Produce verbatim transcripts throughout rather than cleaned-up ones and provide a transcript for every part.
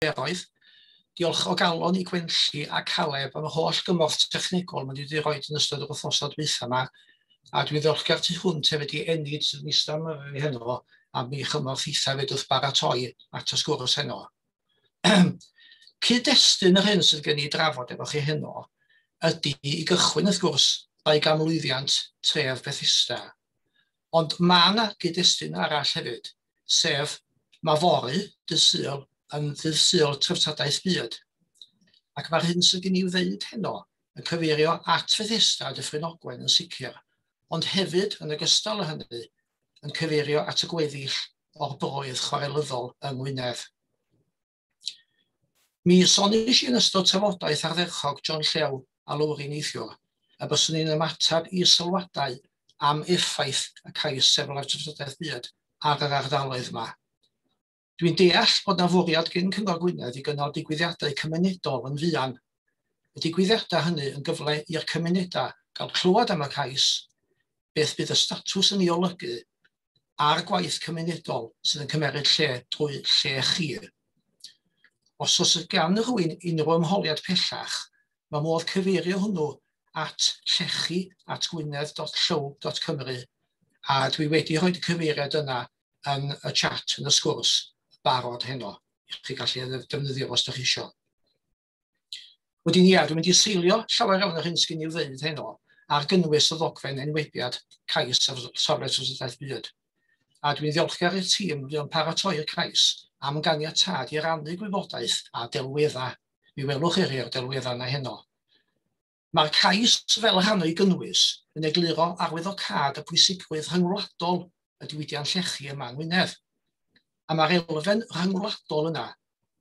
niferoedd. Diolch o galon i Gwenlli a Caleb am y holl gymorth technegol maen nhw wedi rhoi yn ystod yr wythnosau dwytha yma. A dwi'n ddiolchgar tu hwnt hefyd i Enid sydd yn eistedd yma fi heno am ei chymorth hitha hefyd wrth baratoi at y sgwrs heno. Cyd-destun yr hyn sydd gen i drafod efo chi heno ydy i gychwyn wrth gwrs dau ganmlwyddiant tref Bethesda. Ond mae yna gyd-destun arall hefyd, sef mae fory, dydd Sul, yn ddydd Sul Treftadaeth Byd. Ac mae'r hyn sydd gen i ddeud heno yn cyfeirio at Fethesda a Dyffryn Ogwen yn sicr, ond hefyd, yn ogystal â hynny, yn cyfeirio at y gweddill o'r broedd chwarelyddol yng Ngwynedd. Mi soniais i yn ystod trafodaeth ardderchog John Llew a Lowri neithiwr, y byswn i'n ymateb i sylwadau am effaith y cais sefyll Treftadaeth Byd ar yr ardaloedd yma. Dwi'n deall bod na fwriad gen Cyngor Gwynedd i gynnal digwyddiadau cymunedol yn fuan. Y digwyddiadau hynny yn gyfle i'r cymunedau gael clywed am y cais, beth bydd y statws yn ei olygu, a'r gwaith cymunedol sydd yn cymeryd lle drwy lle chi. Os oes gan rhywun unrhyw ymholiad pellach, mae modd cyfeirio hwnnw at llechi at gwynedd dot llyw dot cymru, a dwi wedi rhoi y cyfeiriad yna yn y chat, yn y sgwrs, barod heno, i chi gallu defnyddio os ydych chi isio. Wedyn ia, dwi'n mynd i seilio llawer iawn o'r hyn sgyn i'w ddeud heno ar gynnwys y ddogfen enwebiad cais ar safle Treftadaeth Byd. A dwi'n ddiolchgar i'r tîm fuo'n paratoi'r cais am ganiatâd i rannu gwybodaeth a delweddau. Mi welwch chi rhai o'r delweddau yna heno. Mae'r cais fel rhan o'i gynnwys yn egluro arwyddocâd y pwysigrwydd rhyngwladol y diwydiant llechi yma yng Ngwynedd. A mae'r elfen rhyngwladol yna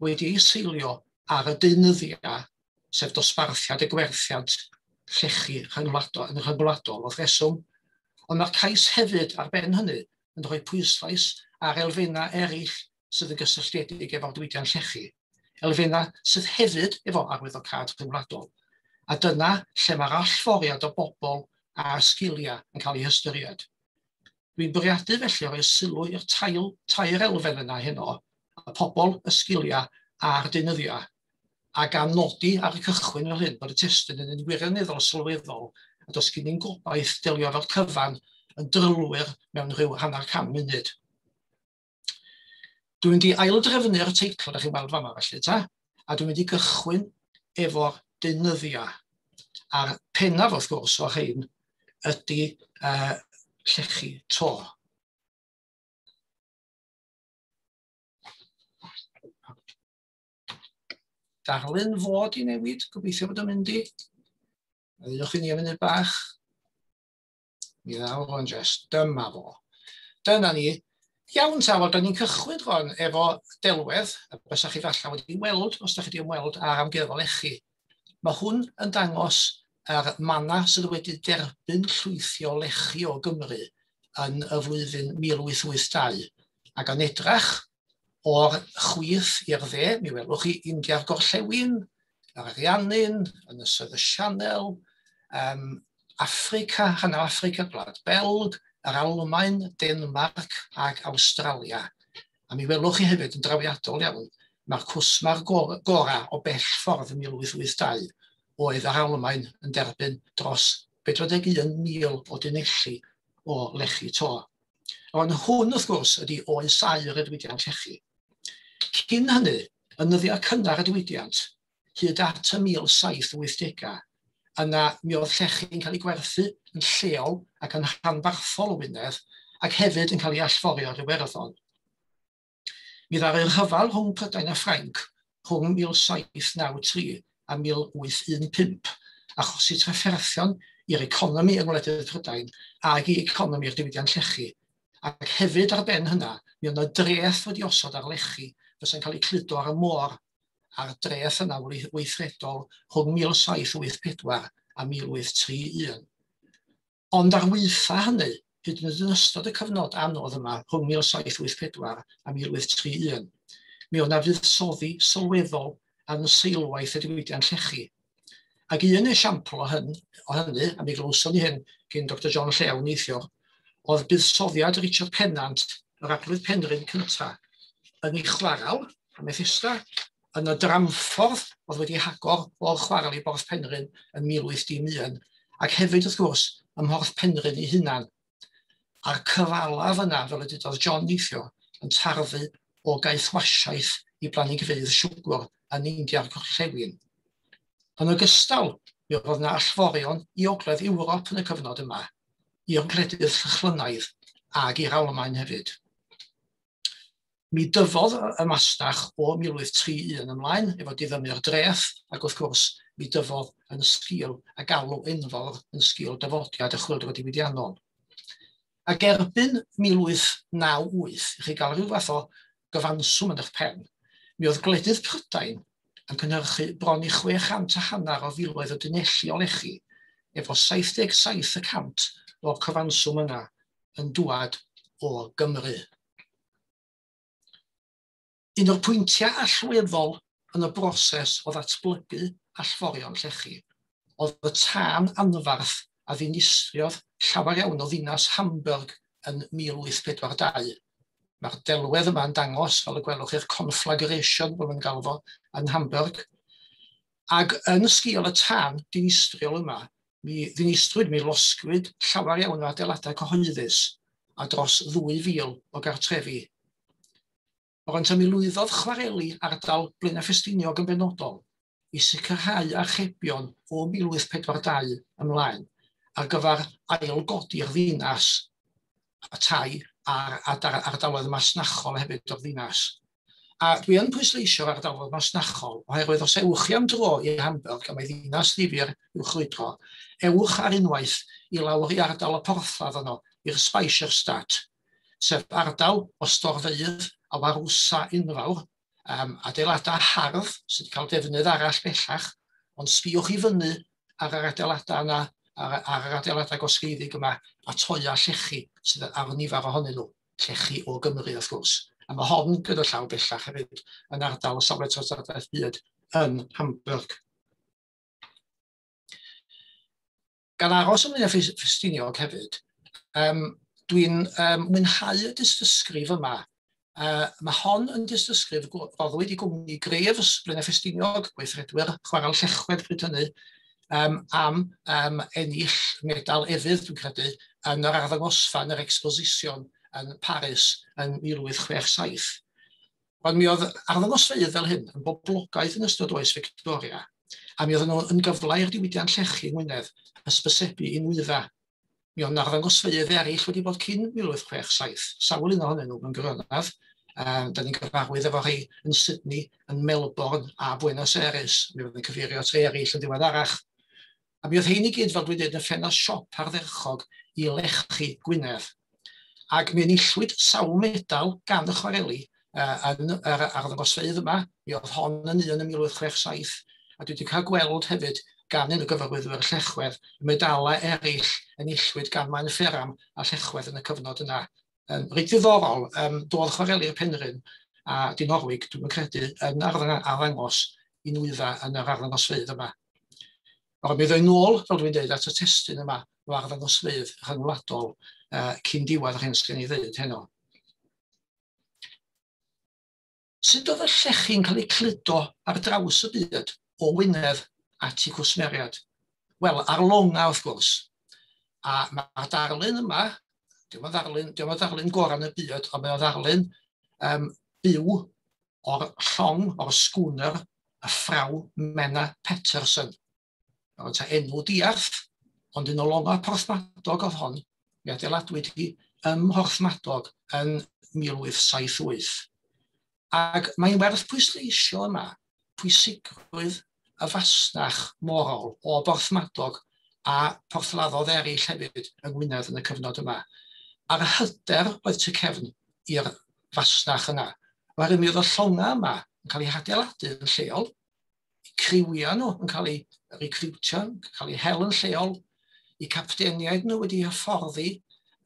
wedi ei seilio ar y deunyddiau, sef dosbarthiad y gwerthiant llechi rhyngwladol, yn rhyngwladol wrth reswm. Ond mae'r cais hefyd ar ben hynny yn rhoi pwyslais ar elfennau eraill sydd yn gysylltiedig efo'r diwydiant llechi, elfennau sydd hefyd efo arwyddocâd rhyngwladol. A dyna lle mae'r allforiad o bobl a sgiliau yn cael ei hystyried. Dwi'n bwriadu felly roi sylw i'r tail, tair elfen yna heno, y pobl, y sgiliau a'r deunyddiau, a gan nodi ar y cychwyn fel hyn bod y testun yn un wirioneddol sylweddol a does gen i'n gobaith delio efo'r cyfan yn drylwyr mewn rhyw hanner can munud. Dwi'n mynd i aildrefnu'r teitl ydych chi'n weld fama felly ta, a dwi'n mynd i gychwyn efo'r deunyddiau. A'r pennaf wrth gwrs o'r rhain ydy uh, llechi to. Darlun fod i newid, gobeithio bod o'n mynd i. Ddewch i ni am munud bach. Mi ddaw fo'n jest, dyma fo. Dyna ni. Iawn ta, wel, da ni'n cychwyn rwan efo delwedd, a bysa chi falle wedi weld, os da chi wedi ymweld â'r amgueddfa lechi. Mae hwn yn dangos yr manna sydd wedi derbyn llwythi o lechi o Gymru yn y flwyddyn mil wyth wyth dau. Ac yn edrach o'r chwith i'r dde, mi welwch chi India'r Gorllewin, yr Ariannin, Ynysoedd y Sianel, um, Affrica, rhan o Affrica, Gwlad Belg, yr Almaen, Denmarc ac Awstralia. A mi welwch chi hefyd yn drawiadol iawn, mae'r cwsmar gorau o bell ffordd yn mil wyth wyth dau oedd yr Almaen yn derbyn dros pedwar deg un mil o dunelli o lechi to. Ond hwn, wrth gwrs, ydy oes aur y diwydiant llechi. Cyn hynny, yn nyddiau cynnar y diwydiant, hyd at y mil saith wythdegau, yna mi oedd llechi'n cael ei gwerthu yn lleol ac yn rhanbarthol o Wynedd, ac hefyd yn cael ei allforio ar Iwerddon. Mi ddaru'r rhyfel rhwng Prydain a Ffrainc rhwng mil saith naw tri a mil wyth un pump, achosi trafferthion i'r economi yng ngwledydd Prydain ac i economi'r diwydiant llechi. Ac hefyd ar ben hynna, mi oedd yna dreth wedi osod ar lechi fysa'n cael ei cludo ar y môr, a'r dreth yna weithredol rhwng mil saith wyth pedwar a mil wyth tri un. Ond ar waetha hynny, hyd yn oed yn ystod y cyfnod anodd yma rhwng mil saith wyth pedwar a mil wyth tri un, mi oedd yna fuddsoddi sylweddol yn seilwaith y diwydiant llechi. Ac un esiampl o, hyn, o hynny, a mi glywson ni hyn gyn Doctor John Llew neithiwr, oedd buddsoddiad Richard Pennant, yr arglwydd Penrhyn cyntaf, yn ei chwaral, ym Methesda, yn y dramffordd oedd wedi hagor o'r chwarel i Borth Penrhyn yn mil wyth dim un, ac hefyd wrth gwrs ym Mhorth Penrhyn ei hunan. A'r cyfalaf yna, fel y dydodd John neithiwr, yn tarfu o gaethwasiaeth i blanhigfeydd siwgr yn India'r Gorllewin. Yn ogystal, mi oedd yna allforion i Ogledd Ewrop yn y cyfnod yma, i'r gwledydd Llychlynaidd ag i'r Almaen hefyd. Mi dyfodd y masnach o mil wyth tri un ymlaen efo diddymu'r dreth, ac wrth gwrs mi dyfodd yn sgil a galw enfawr yn sgil dyfodiad y chwyldro diwydiannol. Ac erbyn mil wyth naw wyth, i chi gael rhyw fath o gyfanswm yn eich pen, mi oedd gwledydd Prydain yn cynhyrchu bron i chwe chant a hanner o filoedd o dunelli o lechi, efo saith deg saith y cant o'r cyfanswm yna yn dŵad o Gymru. Un o'r pwyntiau allweddol yn y broses o ddatblygu allforion llechi oedd y tân anfarth a ddinistriodd llawer iawn o ddinas Hamburg yn mil wyth pedwar dau. Mae'r delwedd yma yn dangos, fel y gwelwch chi'r conflagration, fel mae'n galw fo, yn Hamburg. Ac yn sgil y tân dinistriol yma, mi ddinistrwyd, mi losgwyd llawer iawn o adeiladau cyhoeddus a dros ddwy fil o gartrefi. Ond mi lwyddodd chwareli ardal Blaenau Ffestiniog yn benodol i sicrhau archebion o mil wyth pedwar dau ymlaen ar gyfer ailgodi'r ddinas, y tai a'r ardaloedd masnachol hefyd o'r ddinas. A dwi yn pwysleisio'r ardaloedd masnachol oherwydd os ewch chi am dro i Hamburg, a mae ddinas ddifyr i'w chrwydro, ewch ar unwaith i lawr i ardal y porthladd yno, i'r Speicherstadt, sef ardal o storfeydd a warwsa enfawr, um, adeiladau hardd sydd wedi cael defnydd arall bellach, ond sbïwch i fyny ar yr adeiladau yna, ar, ar yr adeiladau gosgeiddig yma, a toia llechi sydd ar nifer ohonyn nhw, llechi o Gymru wrth gwrs. A mae hon gyda llaw bellach hefyd yn ardal o safle treftadaeth byd yn Hamburg. Gan aros ym Mlaenau Ffestiniog hefyd, um, dwi'n um, mwynhau y dystysgrif yma. Uh, mae hon yn dystysgrif roddwyd i gwmni Graves, Blaenau Ffestiniog, gweithredwyr chwarel Llechwedd bryd hynny, um, am um, ennill medal efydd, dwi'n credu, yn yr arddangosfa, yn yr exposition yn Paris yn mil wyth chwech saith. Ond mi oedd arddangosfeydd fel hyn yn boblogaidd yn ystod oes Victoria, a mi oedden nhw yn gyfle i'r diwydiant llechi yng Ngwynedd hysbysebu i nwyddau. Mi oedd arddangosfeydd eraill wedi bod cyn mil wyth chwech saith, sawl un ohonyn nhw mewn gwirionedd. Um, da ni'n gyfarwydd efo rhai yn Sydney, yn Melbourne a Buenos Aires. Mi oedd yn cyfeirio at rhai eraill yn ddiweddarach. A mi oedd hein i gyd, fel dwi'n dweud, yn ffenast siop ardderchog i lechi Gwynedd. Ac mi enillwyd sawl medal gan y chwareli uh, yn yr arddangosfeydd yma. Mi oedd hon yn un yn mil wyth chwech saith, a dwi wedi cael gweld hefyd gan un o gyfarwyddwyr Llechwedd, medalau eraill enillwyd gan Maen Fferam a Llechwedd yn y cyfnod yna. Um, reit ddiddorol, um, doedd chwareli'r Penrhyn a Dinorwig, dwi'n credu, yn arddangos i nwyddau yn yr arddangosfeydd yma. Ond mi ddoi nôl, fel dwi'n dweud, at y testun yma o arddangosfeydd rhyngwladol uh, cyn diwedd yr hyn sy'n ei ddeud heno. Sut oedd y llechi'n cael eu cludo ar draws y byd o Wynedd at eu cwsmeriaid? Wel, ar longa wrth gwrs. A mae'r darlun yma, diolch yn ddarlun, diolch yn ddarlun gorau yn y byd, ond mae o'n ddarlun um, byw o'r llong, o'r sgwner, y ffraw Menna Peterson. Oedd ta enw diarth, ond un o longa Porthmadog oedd hon, mi adeiladwyd hi ym Mhorthmadog yn mil wyth saith wyth. Ac mae'n werth pwysleisio yma pwysigrwydd y fasnach morol o Borthmadog a porthladdodd eraill hefyd yng Ngwynedd yn y cyfnod yma. A'r hyder oedd tu cefn i'r fasnach yna. Oherwydd mi oedd y llonga yma yn cael eu hadeiladu yn lleol, eu criwiau nhw yn cael eu recriwtio, yn cael eu hel yn lleol, eu capteniaid nhw wedi hyfforddi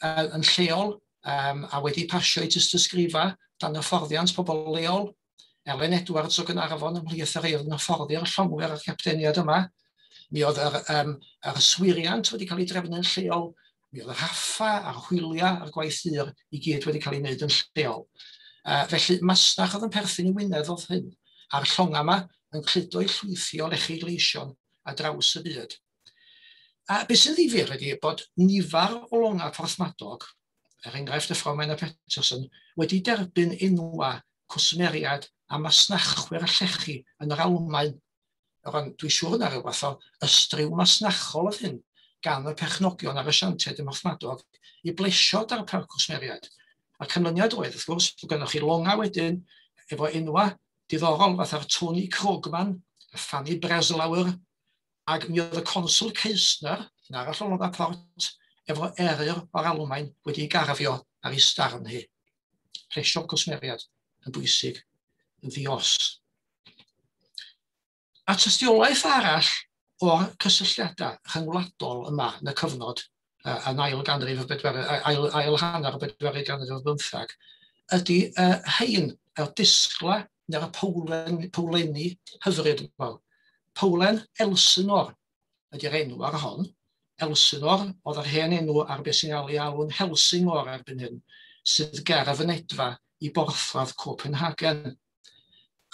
uh, yn lleol um, a wedi pasio eu tystysgrifa dan hyfforddiant pobl leol. Ellen Edwards o Gaernarfon ymhlith y rhai oedd yn hyfforddi'r llongwyr a'r capteniaid yma. Mi oedd yr, um, yr yswiriant wedi cael ei drefnu'n lleol, mi oedd y rhaffa a'r hwyliau a'r gwaith dur i gyd wedi cael ei wneud yn lleol. Uh, felly masnach oedd yn perthyn i Wynedd oedd hyn, A'r llonga yma yn cludo eu llwythi o lechi gleision ar draws y byd. A beth sy'n ddifyr ydy bod nifer o longa Porthmadog, er enghraifft y Frau Minor Peterson, wedi derbyn enwa cwsmeriad a masnachwyr llechi yn yr Almaen. Rwan, dwi'n siŵr yna rhyw fath o ystryw masnachol oedd hyn gan y perchnogion a'r asiantiaid ym Mhorthmadog i blesio darpar cwsmeriad. A'r canlyniad oedd, wrth gwrs, bod gennych chi longa wedyn efo enwa diddorol fatha'r Tony Krogman, y Fanny Breslauer, ac mi oedd y Consul Keisner, yn arall o longa port, efo eryr o'r Almaen wedi ei garfio ar ei starn hi. Plesio cwsmeriad yn bwysig, yn ddios. A tystiolaeth arall o'r cysylltiadau rhyngwladol yma yn y cyfnod uh, yn ail ganrif y bedwaredd, ail, ail hanner y bedwaredd ganrif ar bymthag, ydy uh, hein, yr disgla neu'r powlen, powlenni hyfryd yma. Powlen Elsinor ydy'r enw ar hon. Elsinor oedd yr hen enw ar beth sy'n cael ei alw'n Helsingor erbyn hyn, sydd ger y fynedfa i borthladd Copenhagen.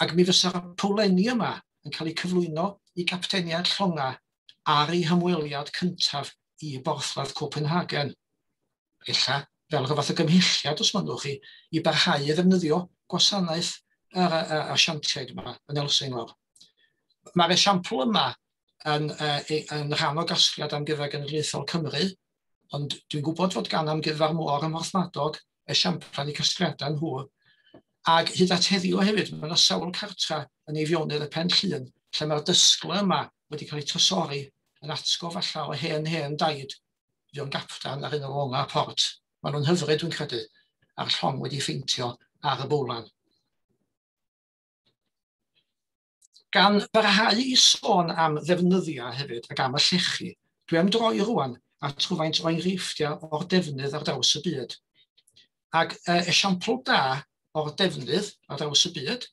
Ac mi fysa'r powlenni yma yn cael eu cyflwyno i gapteniad llonga ar ei hymweliad cyntaf i borthladd Copenhagen. Ella, fel rhyw fath o gymhelliad, os mynnwch chi, i barhau i ddefnyddio gwasanaeth yr asiantiaid yma yn Elsinor. Mae'r esiampl yma yn, uh, yn rhan o gasgliad Amgueddfa Genedlaethol Cymru, ond dwi'n gwybod fod gan Amgueddfa'r Môr ym Mhorthmadog esiamplau eu casgliadau nhw. Ac hyd at heddiw hefyd, mae yna sawl cartra yn Eifionydd y Pen Llŷn, lle mae'r dysgla yma wedi cael ei trysori yn atgof falla o hen hen daid, fu'n gaptan ar un o longa port. Maen nhw'n hyfryd, dwi'n credu, a'r llong wedi ffeintio ar y bowlan. Gan barhau i sôn am ddefnyddiau hefyd ac am y llechi, dwi am droi rwan at rhywfaint o enghreifftiau o'r defnydd ar draws y byd. Ac e, esiampl da o'r defnydd ar draws y byd,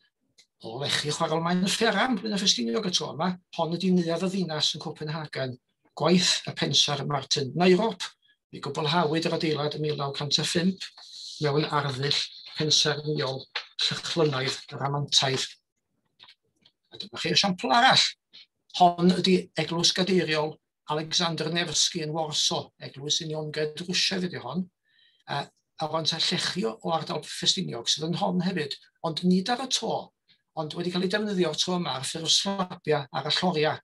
o lechi chwarel Maen Fferam, Blaenau Ffestiniog y tro yma, hon ydy neuadd y ddinas yn Copenhagen, gwaith y pensaer Martin Nyrop. Mi gwblhawyd yr adeilad ym mil naw cant a phump mewn arddull pensaernïol llychlynaidd ramantaidd. A dyma chi esiampl arall. Hon ydy Eglwys Gadeiriol Alexander Nevsky yn Warsaw, Eglwys Uniongred Rwsiaidd ydy hon. A, a rwan ta llechi o ardal Ffestiniog sydd yn hon hefyd, ond nid ar y to, ond wedi cael ei defnyddio'r tro yma ar ffurf slabia ar y lloriau.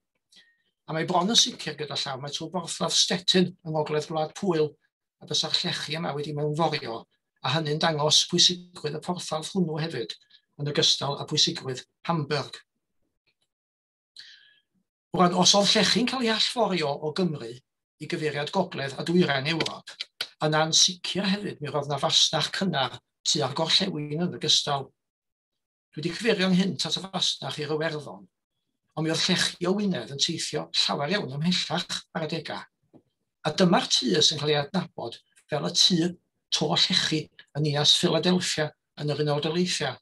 A mae bron yn sicr gyda llaw, mae trwy borthladd Stettin yng ngogledd Gwlad Pwyl, a bysa'r llechi yma wedi mewnforio, a hynny'n dangos pwysigrwydd y porthladd hwnnw hefyd, yn ogystal â pwysigrwydd Hamburg. Rwan, os oedd llechi'n cael ei allforio o Gymru i gyfeiriad gogledd a dwyrain Ewrop, yna'n sicr hefyd mi roedd yna fasnach cynnar tua'r gorllewin yn ogystal. Dwi wedi cyfeirio ynghynt at y fasnach i'r Iwerddon, ond mi oedd llechi o Wynedd yn teithio llawer iawn ymhellach ar adegau. A dyma'r tŷ sy'n cael ei adnabod fel y tŷ to llechi yn ninas Philadelphia yn yr Unol Daleithiau.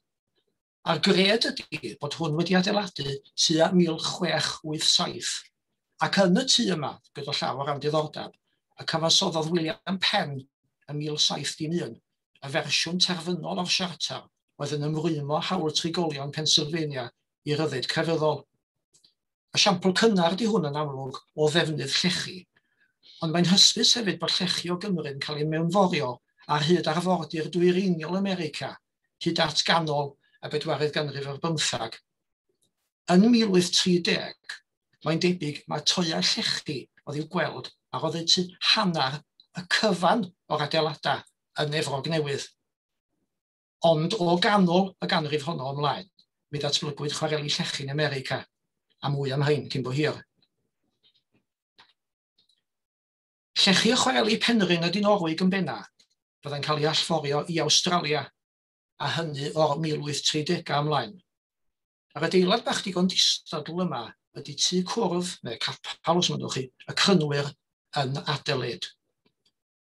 A'r gred ydy bod hwn wedi adeiladu tua mil chwech wyth saith. Ac yn y tŷ yma, gyda llaw o ran diddordeb, y cyfansoddodd William Penn ym mil saith dim un, y fersiwn terfynol o'r siarter oedd yn ymrwymo hawl trigolion Pennsylvania i ryddid crefyddol. Esiampl cynnar di hwn yn amlwg o ddefnydd llechi, ond mae'n hysbys hefyd bod llechi o Gymru'n cael ei mewnforio ar hyd arfordir dwyreiniol America, hyd at ganol y bedwaredd ganrif ar bymthag. Yn mil wyth tri deg, mae'n debyg mae toiau llechi oedd i'w gweld ar oddeutu hanner y cyfan o'r adeiladau yn Efrog Newydd. Ond o ganol y ganrif honno ymlaen, mi ddatblygwyd chwareli llechi yn America, a mwy am hyn cyn bo hir. Llechi o chwareli Penrhyn a Dinorwig yn benna fyddai'n cael ei allforio i Awstralia, a hynny o'r mil wyth tri degau ymlaen. A'r adeilad bach digon distadl yma ydy tŷ cwrdd, neu capal os mynnwch chi, y Crynwyr yn Adelaide.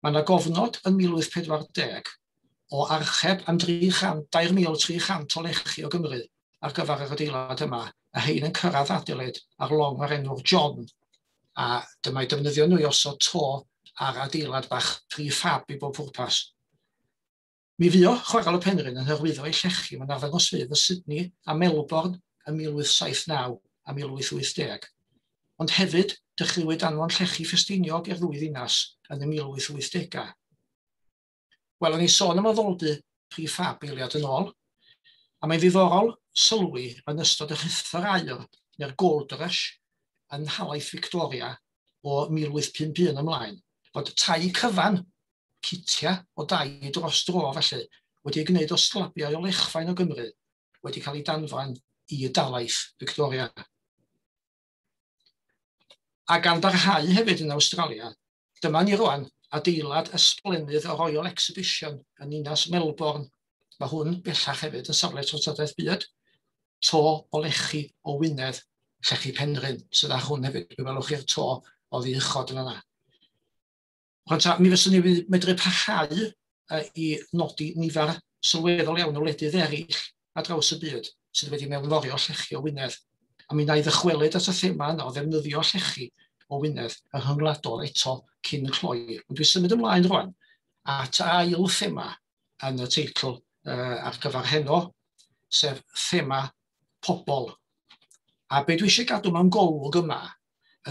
Mae yna gofnod yn mil wyth pedwar deg o archeb am dair mil tri chant o lechi o Gymru ar gyfer yr adeilad yma, a hein yn cyrraedd Adelaide ar long o'r enw'r John. A dyma'i defnyddio nhw i osod to ar adeilad bach prefab i bob pwrpas. Mi fuo Chwarel y Penrhyn yn hyrwyddo ei llechi mewn arddangosfeydd y Sydney a Melbourne ym mil wyth saith naw a mil wyth wyth deg. Ond hefyd, dechreuwyd anfon llechi Ffestiniog i'r ddwy ddinas yn y mil wyth wyth degau. Wel, o'n i sôn am addoldy prefab eiliad yn ôl, a mae'n ddiddorol sylwi yn ystod y rhuthr aur neu'r Gold Rush yn nhalaith Victoria o mil wyth pump un ymlaen, fod tai cyfan, citia o dai dros dro felly, wedi ei gwneud o slabiau o lechfaen o Gymru, wedi cael ei danfon i dalaith Victoria. A gan barhau hefyd yn Awstralia, dyma ni rwan adeilad ysblennydd y Royal Exhibition yn ninas Melbourne. Mae hwn bellach hefyd yn safle treftadaeth byd. To o lechi o Wynedd, llechi Penrhyn, sydd â hwn hefyd. Mi welwch chi'r to oddi uchod yn yna. Rwan ta, mi fyswn ni medru parhau uh, i nodi nifer sylweddol iawn o wledydd eraill ar draws y byd sydd wedi mewnforio llechi o Wynedd. A mi wna i ddychwelyd at y thema yna o ddefnyddio llechi o Wynedd yn rhyngwladol eto cyn cloi. Ond dwi'n symud ymlaen rwan at ail thema yn y teitl uh, ar gyfer heno, sef thema pobl. A be dwi eisiau gadw mewn golwg yma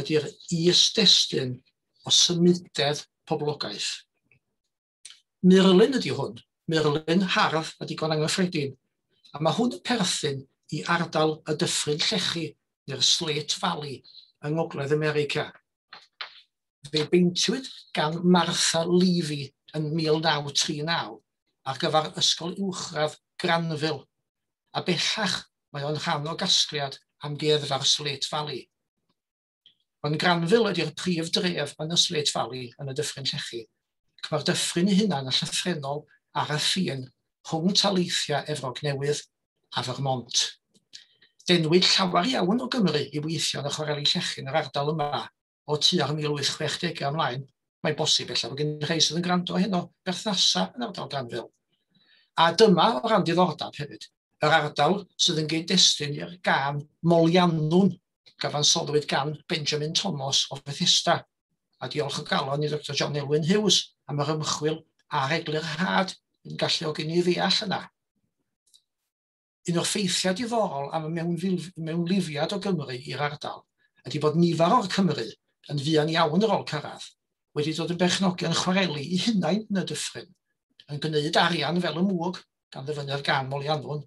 ydy'r is-destun o symudedd poblogaeth. Murlun ydy hwn, murlun hardd a digon anghyffredin. A mae hwn yn perthyn i ardal y Dyffryn Llechi, neu'r Slate Valley, yng Ngogledd America. Fe beintiwyd gan Martha Levy yn mil naw tri naw ar gyfer Ysgol Uwchradd Granville, a bellach mae o'n rhan o gasgliad amgueddfa'r Slate Valley. Ond Granville ydy'r prif dref yn y Slate Valley yn y Dyffryn Llechi, ac mae'r dyffryn ei hunan yn llythrennol ar y ffin rhwng taleithiau Efrog Newydd a Vermont. Denwyd llawer iawn o Gymru i weithio yn y chwareli llechi yn yr ardal yma o tua'r mil wyth chwech degau ymlaen. Mae'n bosib ella bod gen rhai sydd yn gwrando heno berthnasau yn ardal Granville. A dyma o ran diddordeb hefyd, yr ardal sydd yn gyd-destun i'r gân Moliannwn, gyfansoddwyd gan Benjamin Thomas o Bethesda. A diolch o galon i Doctor John Elwyn Hughes am yr ymchwil a'r eglurhad yn galluogi ni ddeall yna. Un o'r ffeithiau diddorol am y mewnlifiad o Gymru i'r ardal ydy bod nifer o'r Cymru yn fuan iawn ar ôl cyrraedd wedi dod yn berchnogion chwareli i hunain yn y dyffryn, yn gwneud arian fel y mwg gan ddefnyddio'r gân Moliannwn,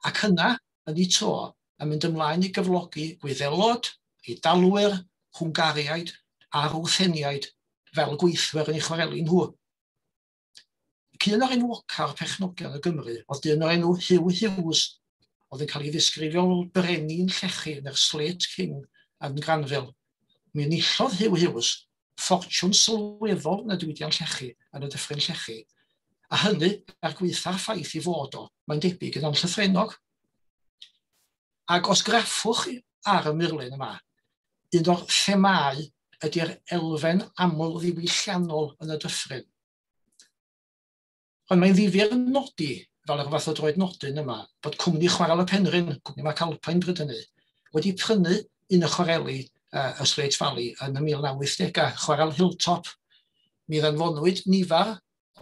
ac yna, yn ei tro, yn mynd ymlaen i gyflogi Gwyddelod, Eidalwyr, Hwngariaid a Rwtheniaid fel gweithwyr yn eu chwareli nhw. Un o'r enwoca'r perchnogion o Gymru oedd dyn o'r enw Hugh Hughes, oedd yn cael ei ddisgrifio fel brenin llechi neu'r Slate King yn Granville. Mi enillodd Hugh Hughes ffortiwn sylweddol yn y diwydiant llechi, yn y Dyffryn Llechi, a hynny er gwaetha'r ffaith i fod o, mae'n debyg yn anllythrennog. Ac os graffwch chi ar y murlun yma, un o'r themâu ydy'r elfen aml ddiwylliannol yn y dyffryn. Ond mae'n ddifyr nodi, fel yr fath o droed nodyn yma, bod cwmni Chwarel y Penrhyn, cwmni McAlpine bryd hynny, wedi prynu un o chwareli uh, y Slate Valley yn y mil naw wyth degau, Chwarel Hilltop. Mi ddanfonwyd nifer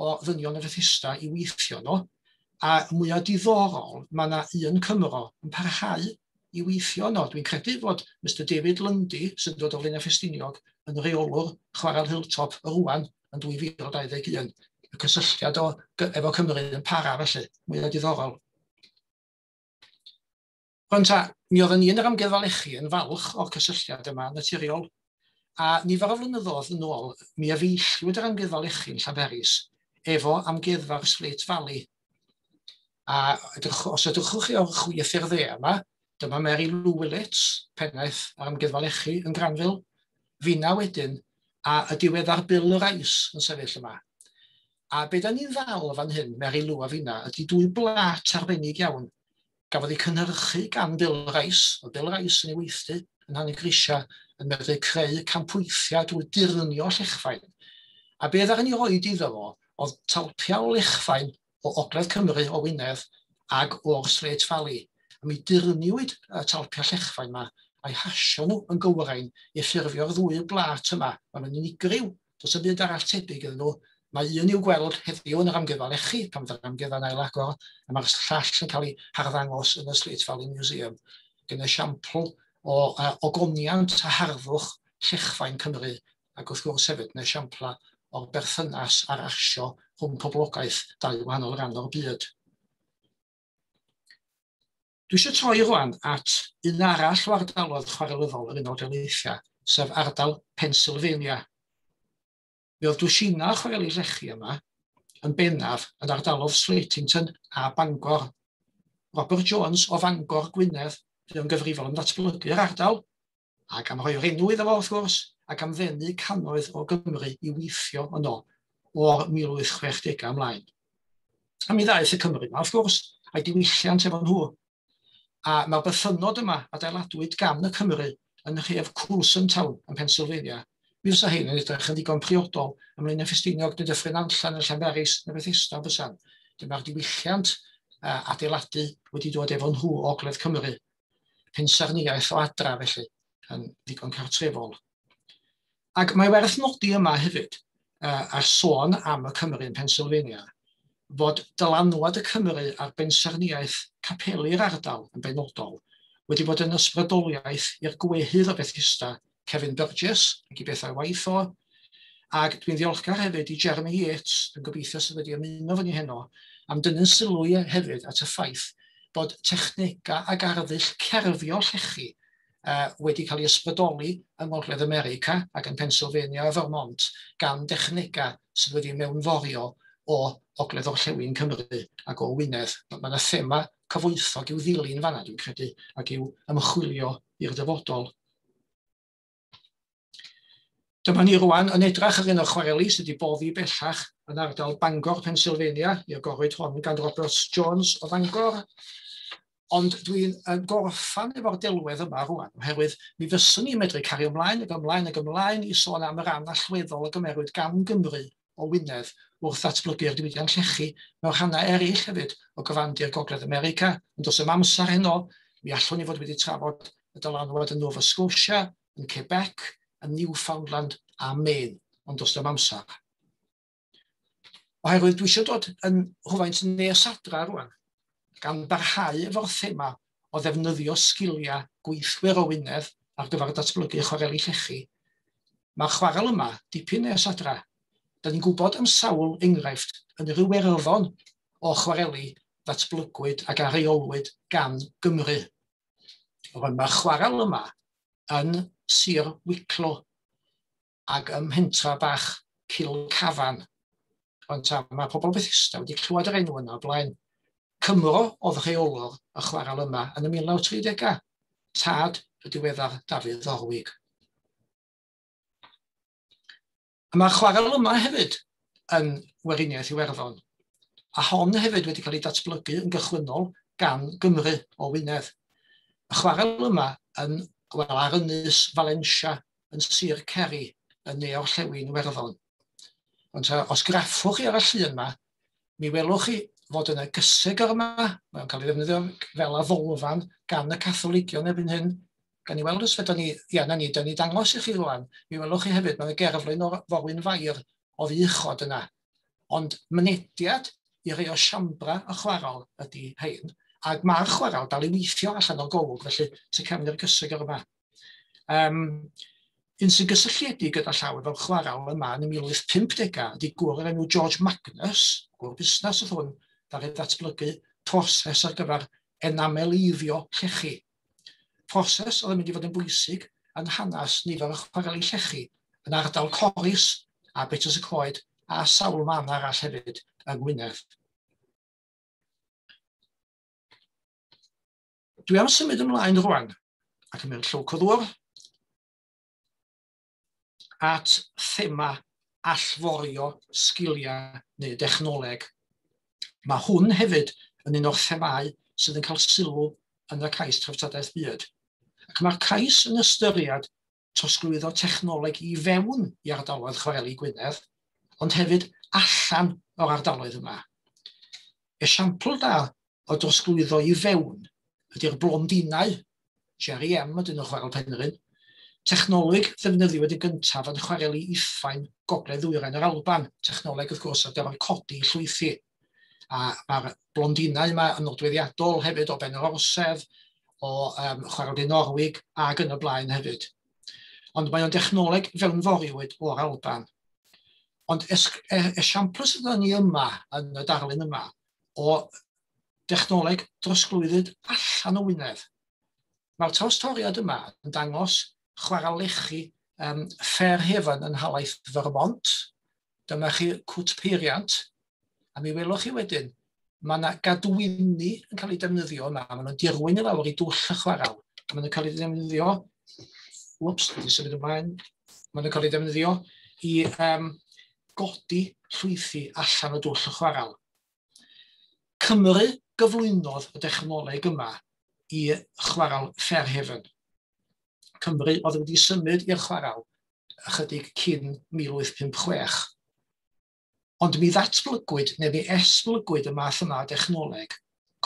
o ddynion y Fethesda i weithio nhw, a mwyaf diddorol, mae yna un Cymro yn parhau i weithio yno. Dwi'n credu fod Mister David Lundy, sy'n dod o Flaenau Ffestiniog, yn reolwr Chwarel Hilltop rwan yn dwy fil dau ddeg un. Y cysylltiad o, efo Cymru yn para felly, mwyaf diddorol. Rwan ta, mi oedden ni yn yr Amgueddfa Lechi yn falch o'r cysylltiad yma naturiol, a nifer o flynyddoedd yn ôl, mi efeilliwyd yr Amgueddfa Lechi yn Llanberis efo Amgueddfa'r Slate Valley. A edrych, os edrychwch chi o'r chwith i'r dde yma, dyma Mary Lou Willits, pennaeth ar Amgueddfa Lechi yn Granville, finna wedyn, a y diweddar Bill Rice yn sefyll yma. A be da ni'n ddal fan hyn, Mary Lou a finna, ydy dwy blat arbennig iawn. Gafodd ei cynhyrchu gan Bill Rice, oedd Bill Rice yn ei weithdy yn Nhanygrisiau yn medru creu campweithiau drwy durnio llechfaen. A be ddaru ni roed iddo fo oedd talpiau o lechfaen o Ogledd Cymru, o Wynedd, ag o'r Slate Valley. A mi durniwyd y talpiau llechfaen yma a'i hasio nhw yn gywrain i ffurfio'r ddwy blat yma. Maen nhw'n unigryw, does dim byd arall tebyg iddyn nhw. Mae un i'w gweld heddiw yn yr Amgueddfa Lechi, pan fydd yr amgueddfa'n ailagor, a mae'r llall yn cael ei harddangos yn y Slate Valley Museum. Ac yn esiampl o uh, ogoniant a harddwch llechfaen Cymru, ac wrth gwrs hefyd yn esiampla o'r berthynas a'r asio rhwng poblogaeth dau wahanol ran o'r byd. Dwi eisiau troi rwan at un arall o ardaloedd chwarelyddol yr Unol Daleithiau, sef ardal Pennsylvania. Mi oedd dwsina chwareli llechi yma yn bennaf yn ardalodd Slatington a Bangor. Robert Jones o Fangor Gwynedd fydd yn gyfrifol am ddatblygu'r ardal, ac am roi'r enw iddo fo wrth gwrs, ac am ddenu cannoedd o Gymru i weithio yno o'r mil wyth chwech degau ymlaen. A mi ddaeth y Cymru yma, wrth gwrs, a'i diwylliant efo nhw. A mae'r bythynnod yma adeiladwyd gan y Cymru yn nhref Coulson Town yn Pennsylvania. Mi fysa hyn yn edrych yn ddigon priodol ym Mlaenau Ffestiniog neu Dyffryn Nantlle neu Llanberis neu Bethesda fysan. Dyma'r diwylliant uh, adeiladu wedi dod efo nhw o Ogledd Cymru. Pensaernïaeth o adra felly, yn ddigon cartrefol. Ac mae werth nodi yma hefyd, uh, ar sôn am y Cymru yn Pennsylvania, fod dylanwad y Cymru ar bensaernïaeth capeli'r ardal yn benodol wedi bod yn ysbrydoliaeth i'r gwehydd o Bethesda, Kevin Burgess, ac i bethau waith o. Ac dwi'n ddiolchgar hefyd i Jeremy Yates, dwi'n gobeithio sydd wedi ymuno fyny heno, am dynnu sylw hefyd at y ffaith bod technegau ac arddull cerfio llechi uh, wedi cael ei ysbrydoli yng Ngogledd America ac yn Pennsylvania a Vermont gan dechnegau sydd wedi mewnforio o Ogledd Orllewin Cymru ac o Wynedd. Mae yna thema cyfoethog i'w ddilyn fanna, dwi'n credu, ac i'w ymchwilio i'r dyfodol. Dyma ni rwan yn edrych ar un o'r chwareli sydd wedi boddi bellach yn ardal Bangor, Pennsylvania, i agorwyd hon gan Robert Jones o Fangor. Ond dwi'n gorffan efo'r delwedd yma rwan, oherwydd mi fyswn i'n medru cario ymlaen ac ymlaen ac ymlaen i sôn am y ran allweddol a gymerwyd gan Gymru o Wynedd wrth ddatblygu'r diwydiant llechi mewn rhannau eraill hefyd o gyfandir Gogledd America. Ond does dim amser heno, mi allwn ni fod wedi trafod y dylanwad yn Nova Scotia, yn Quebec, yn Newfoundland a Maine, ond does dim amser. Oherwydd dwi eisiau dod yn rhywfaint nes adra rwan, gan barhau efo'r thema o ddefnyddio sgiliau gweithwyr o Wynedd ar gyfer datblygu chwareli llechi. Mae'r chwarel yma dipyn nes adra. Da ni'n gwybod am sawl enghraifft yn yr Iwerddon o chwareli ddatblygwyd ac areolwyd gan Gymru. Mae'r chwarel yma yn Sir Wicklow ac ym mhentra bach Kilcavan. Ond ta, mae pobl Bethesda wedi clywed yr enw yna o blaen. Cymro oedd rheolwr y chwarel yma yn y mil naw tri degau, tad y diweddar Dafydd Orwig. A mae'r chwarel yma hefyd yn Weriniaeth Iwerddon, a hon hefyd wedi cael ei datblygu yn gychwynnol gan Gymru o Wynedd. Y chwarel yma yn, wel, ar ynys Valencia yn Sir Kerry yn ne-orllewin Iwerddon. Ond ta, os graffwch chi ar y llun yma, mi welwch chi fod yna gysegr yma, mae'n cael ei ddefnyddio fel addolfan gan y Catholigion erbyn hyn. Gan i weld os fedrwn ni, ia, na ni, da ni dangos i chi rwan, mi welwch chi hefyd, mae'n gerflun o'r Forwyn Fair o ddichod yna. Ond mynediad i rei o siambra y chwarel ydy hein, ac mae'r chwarel dal i weithio allan o'r golwg, felly tu cefn i'r gysegr yma. Um, un sy'n gysylltiedig gyda llaw efo'r chwarel yma yn y mil wyth pump degau ydy gŵr o'r enw George Magnus, gŵr busnes oedd hwn, ddaru ddatblygu proses ar gyfer enameleiddio llechi. Proses oedd yn mynd i fod yn bwysig yn hanes nifer o chwareli llechi yn ardal Corris a Betws y Coed a sawl man arall hefyd yng Ngwynedd. Dwi am symud ymlaen rwan ac yn mynd llwc o ddŵr at thema allforio sgiliau neu dechnoleg. Mae hwn hefyd yn un o'r themâu sydd yn cael sylw yn y cais treftadaeth byd. Ac mae'r cais yn ystyried trosglwyddo technoleg i fewn i ardaloedd chwareli Gwynedd, ond hefyd allan o'r ardaloedd yma. Esiampl da o drosglwyddo i fewn ydy'r blondinau, Jerry M ydyn nhw chwarel Penrhyn, technoleg ddefnyddiwyd yn gyntaf yn chwareli Iffain Gogledd Ddwyrain yr Alban, technoleg wrth gwrs ar gyfer codi llwythi. A mae'r blondinau yma yn nodweddiadol hefyd o Ben yr Orsedd, o um, Chwarel Dinorwig ac yn y blaen hefyd. Ond mae o'n dechnoleg fewnforiwyd o'r Alban. Ond esiampl sydd ni yma, yn y darlun yma, o dechnoleg drosglwyddyd allan o Wynedd. Mae'r trawstoriad yma yn dangos chwarel lechi um, Fairhaven yn nhalaith Vermont. Dyma chi cwt peiriant, a mi welwch chi wedyn, mae yna gadwyni yn cael eu defnyddio yma. Maen nhw'n dirwyn i lawr i dwll y chwarel. A maen nhw'n cael eu defnyddio, whoops, wedi symud ymlaen, maen nhw'n cael eu defnyddio i um, godi llwythi allan o dwll y chwarel. Cymru gyflwynodd y dechnoleg yma i chwarel Fairhaven. Cymru oedd wedi symud i'r chwarel ychydig cyn mil wyth pump chwech. Ond mi ddatblygwyd, neu mi esblygwyd y math yma o dechnoleg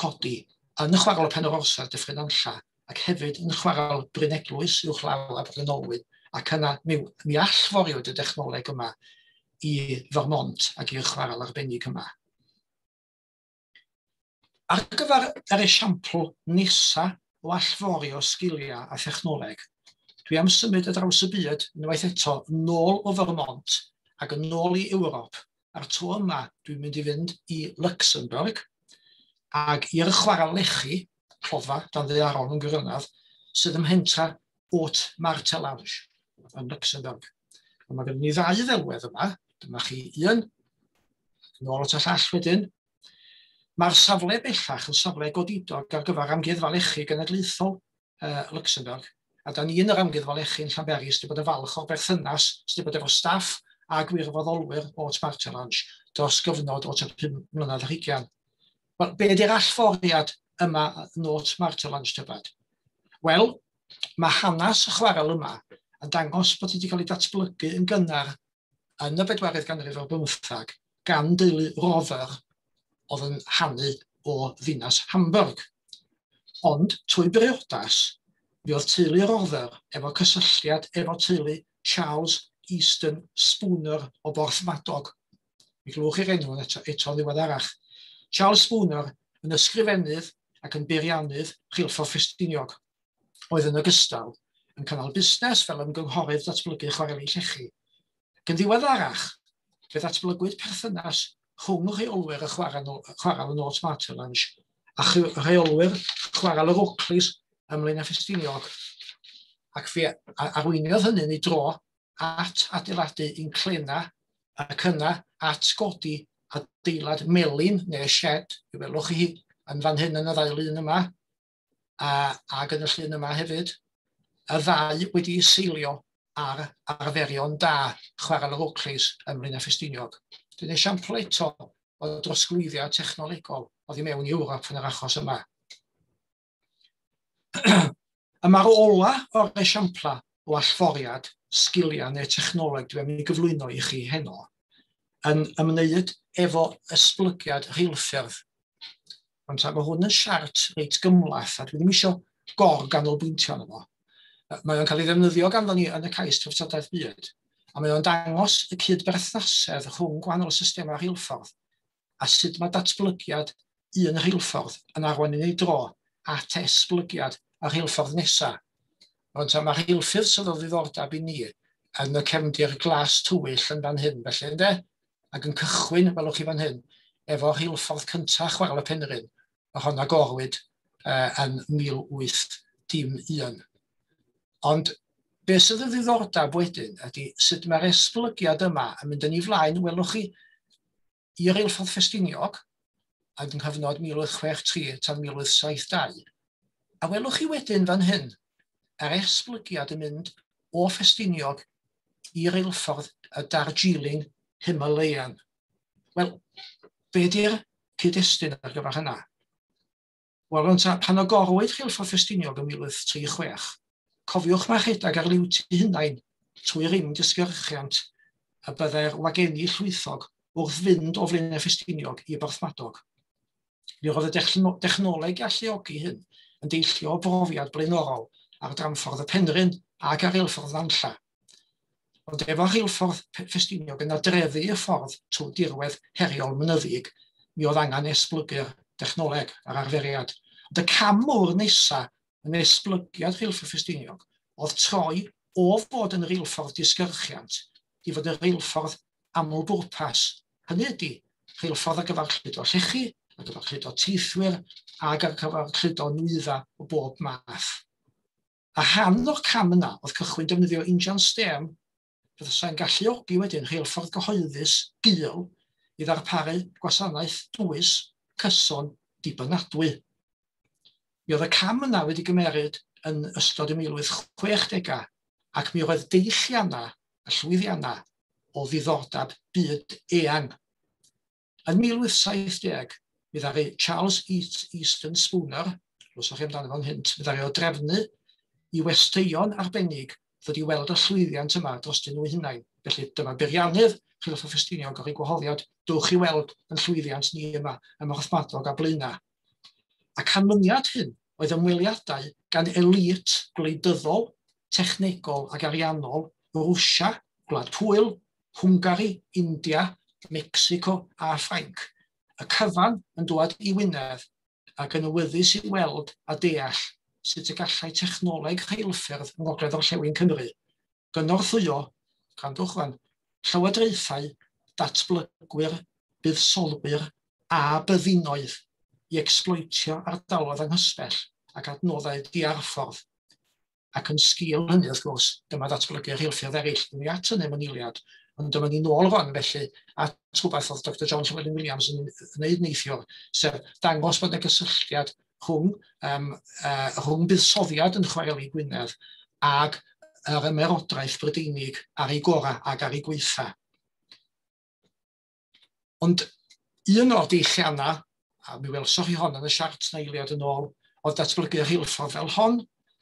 codi yn y chwarel Pen yr Orsaf Dyffryn Nantlla, ac hefyd yn chwarel Bryn Eglwys uwchlaw Abergynolwyn, ac yna mi, mi allforiwyd y dechnoleg yma i Vermont ac i'r chwarel arbennig yma. Ar gyfer yr esiampl nesa o allforio sgiliau a thechnoleg, dwi am symud ar draws y byd unwaith eto nôl o Vermont ac yn ôl i Ewrop. A'r tro yma dwi'n mynd i fynd i Luxembourg ac i'r chwarel lechi, clofa dan ddaearol yn gwirionedd, sydd ym mhentra Haute Martelange yn Luxembourg. A mae gen ni ddau ddelwedd yma. Dyma chi un, nôl at y llall wedyn. Mae'r safle bellach yn safle godidog ar gyfer Amgueddfa Lechi Genedlaethol uh, Luxembourg. A da ni yn yr Amgueddfa Lechi yn Llanberis wedi bod yn falch o'r berthynas sydd wedi bod efo staff a gwirfoddolwyr o Martelange dros gyfnod o tua pum mlynedd ar hugain. Wel, be ydy'r allforiad yma yn Haute Martelange tybed? Wel, mae hanes y chwarel yma yn dangos bod wedi cael ei datblygu yn gynnar yn y bedwaredd ganrif ar bymthag gan deulu Rover oedd yn hanu o ddinas Hamburg. Ond trwy briodas, mi oedd teulu Rother efo cysylltiad efo teulu Charles Easton Spooner o Borthmadog. Mi glywch chi'r enw eto, eto ddiweddarach. Charles Spooner yn ysgrifennydd ac yn beiriannydd rheilffordd Ffestiniog, oedd yn ogystal yn cynnal busnes fel ymgynghorydd datblygu chwareli llechi. Ac yn ddiweddarach, fe ddatblygwyd perthynas rhwng rheolwyr y chwarel yn Haute Martelange a rheolwyr chwarel yr Oakleys ym Mlaenau Ffestiniog. Ac fe arweiniodd hynny'n ei dro at adeiladu inclena ac yna at godi adeilad melin neu shed, i welwch chi yn fan hyn yn y ddau lun yma, a, ac yn y llun yma hefyd, y ddau wedi'i seilio ar arferion da chwarel yr Oakleys ym Mlaenau Ffestiniog. Dwi'n esiampl eto o drosglwyddiad technolegol oddi mewn i Ewrop yn yr achos yma. A mae'r ola o'r esiampla o allforiad sgiliau neu technoleg dwi am ei gyflwyno i chi heno yn ymwneud efo esblygiad rheilffyrdd. Ond mae hwn yn siart reit gymhleth a dwi ddim eisiau gor-ganolbwyntio arno fo. Mae o'n cael ei ddefnyddio ganddo ni yn y cais treftadaeth byd, a mae o'n dangos y cydberthnasedd rhwng gwahanol systemau rheilffordd a sut mae datblygiad un rheilffordd yn arwain yn ei dro at esblygiad y rheilffordd nesaf. Ond mae'r rheilffyrdd sydd o ddiddordeb i ni yn y cefndir glas tywyll yn fan hyn, felly ynde? Ac yn cychwyn, welwch chi fan hyn, efo rheilffordd cyntaf Chwarel y Penrhyn, a hon agorwyd uh, yn mil wyth dim un. Ond beth sydd o ddiddordeb wedyn ydy sut mae'r esblygiad yma yn mynd yn ei flaen, welwch chi, i reilffordd Ffestiniog, ac yng nghyfnod mil wyth chwech tri tan mil wyth saith dau. A welwch chi wedyn fan hyn, yr esblygiad yn mynd o Ffestiniog i reilffordd y Darjeeling Himalayan. Wel, be di'r cyd-destun ar gyfer hynna? Wel, pan agorwyd rheilffordd Ffestiniog yn mil wyth tri chwech, cofiwch mae rhedeg ar liwt eu hunain trwy rim disgyrchiant y byddai'r wagenni llwythog wrth fynd o Flaenau Ffestiniog i Borthmadog. Mi roedd y dechnoleg i alluogi hyn yn deillio o brofiad blaenorol ar dramffordd y Penrhyn ac ar reilffordd Nantlla. Ond efo rheilffordd Ffestiniog yn adreddu y ffordd trwy dirwedd heriol mynyddig, mi oedd angen esblygu'r dechnoleg a'r arferiad. Ond y cam mawr nesaf yn esblygiad rheilffordd Ffestiniog oedd troi o fod yn reilffordd disgyrchiant i fod yn reilffordd amlbwrpas. Hynny ydy, rheilffordd ar gyfer cludo llechi, ar gyfer cludo teithwyr, ac ar gyfer cludo nwyddau o bob math. A rhan o'r cam yna oedd cychwyn defnyddio injan stêm fyddai'n galluogi wedyn rheilffordd gyhoeddus gul i ddarparu gwasanaeth dwys, cyson, dibynadwy. Mi oedd y cam yna wedi gymeryd yn ystod y mil wyth chwechdegau ac mi oedd deilliannau a llwyddiannau o ddiddordeb byd eang. Yn mil wyth saith deg, mi ddaru Charles Easton Spooner, glywsoch chi amdano fo'n hynt, mi ddaru o drefnu i westeion arbennig ddod i weld y llwyddiant yma drostyn nhw hunain. Felly dyma beiriannydd Rheilffordd Ffestiniog o'r gwahoddiad, dowch i weld yn llwyddiant ni yma ym Mhorthmadog a Blaenau. A canlyniad hyn oedd ymweliadau gan elit gwleidyddol, technegol ac ariannol Rwsia, Gwlad Pwyl, Hwngari, India, Mexico a Ffrainc. Y cyfan yn dŵad i Wynedd ac yn awyddus i weld a deall sut y gallai technoleg rheilffyrdd yng Ngogledd Orllewin Cymru gynorthwyo, gwrandwch rwan, llywodraethau, datblygwyr, buddsoddwyr a byddinoedd i ecsbloetio ardaloedd anghysbell ac adnoddau diarffordd. Ac yn sgil hynny, wrth gwrs, dyma ddatblygu rheilffyrdd eraill. Dwi'n at hynny mewn eiliad, ond dyma ni nôl rwan felly at rhywbeth oedd Doctor John Llewellyn Williams yn wneud neithiwr, sef dangos bod yna gysylltiad rhwng, um, uh, rhwng buddsoddiad yn chwareli Gwynedd ag yr ymerodraeth Brydeinig ar ei gorau ac ar ei gweitha. Ond un o'r deilliannau, a mi welsoch chi hon yn y siart na eiliad yn ôl, oedd datblygu rheilffordd fel hon.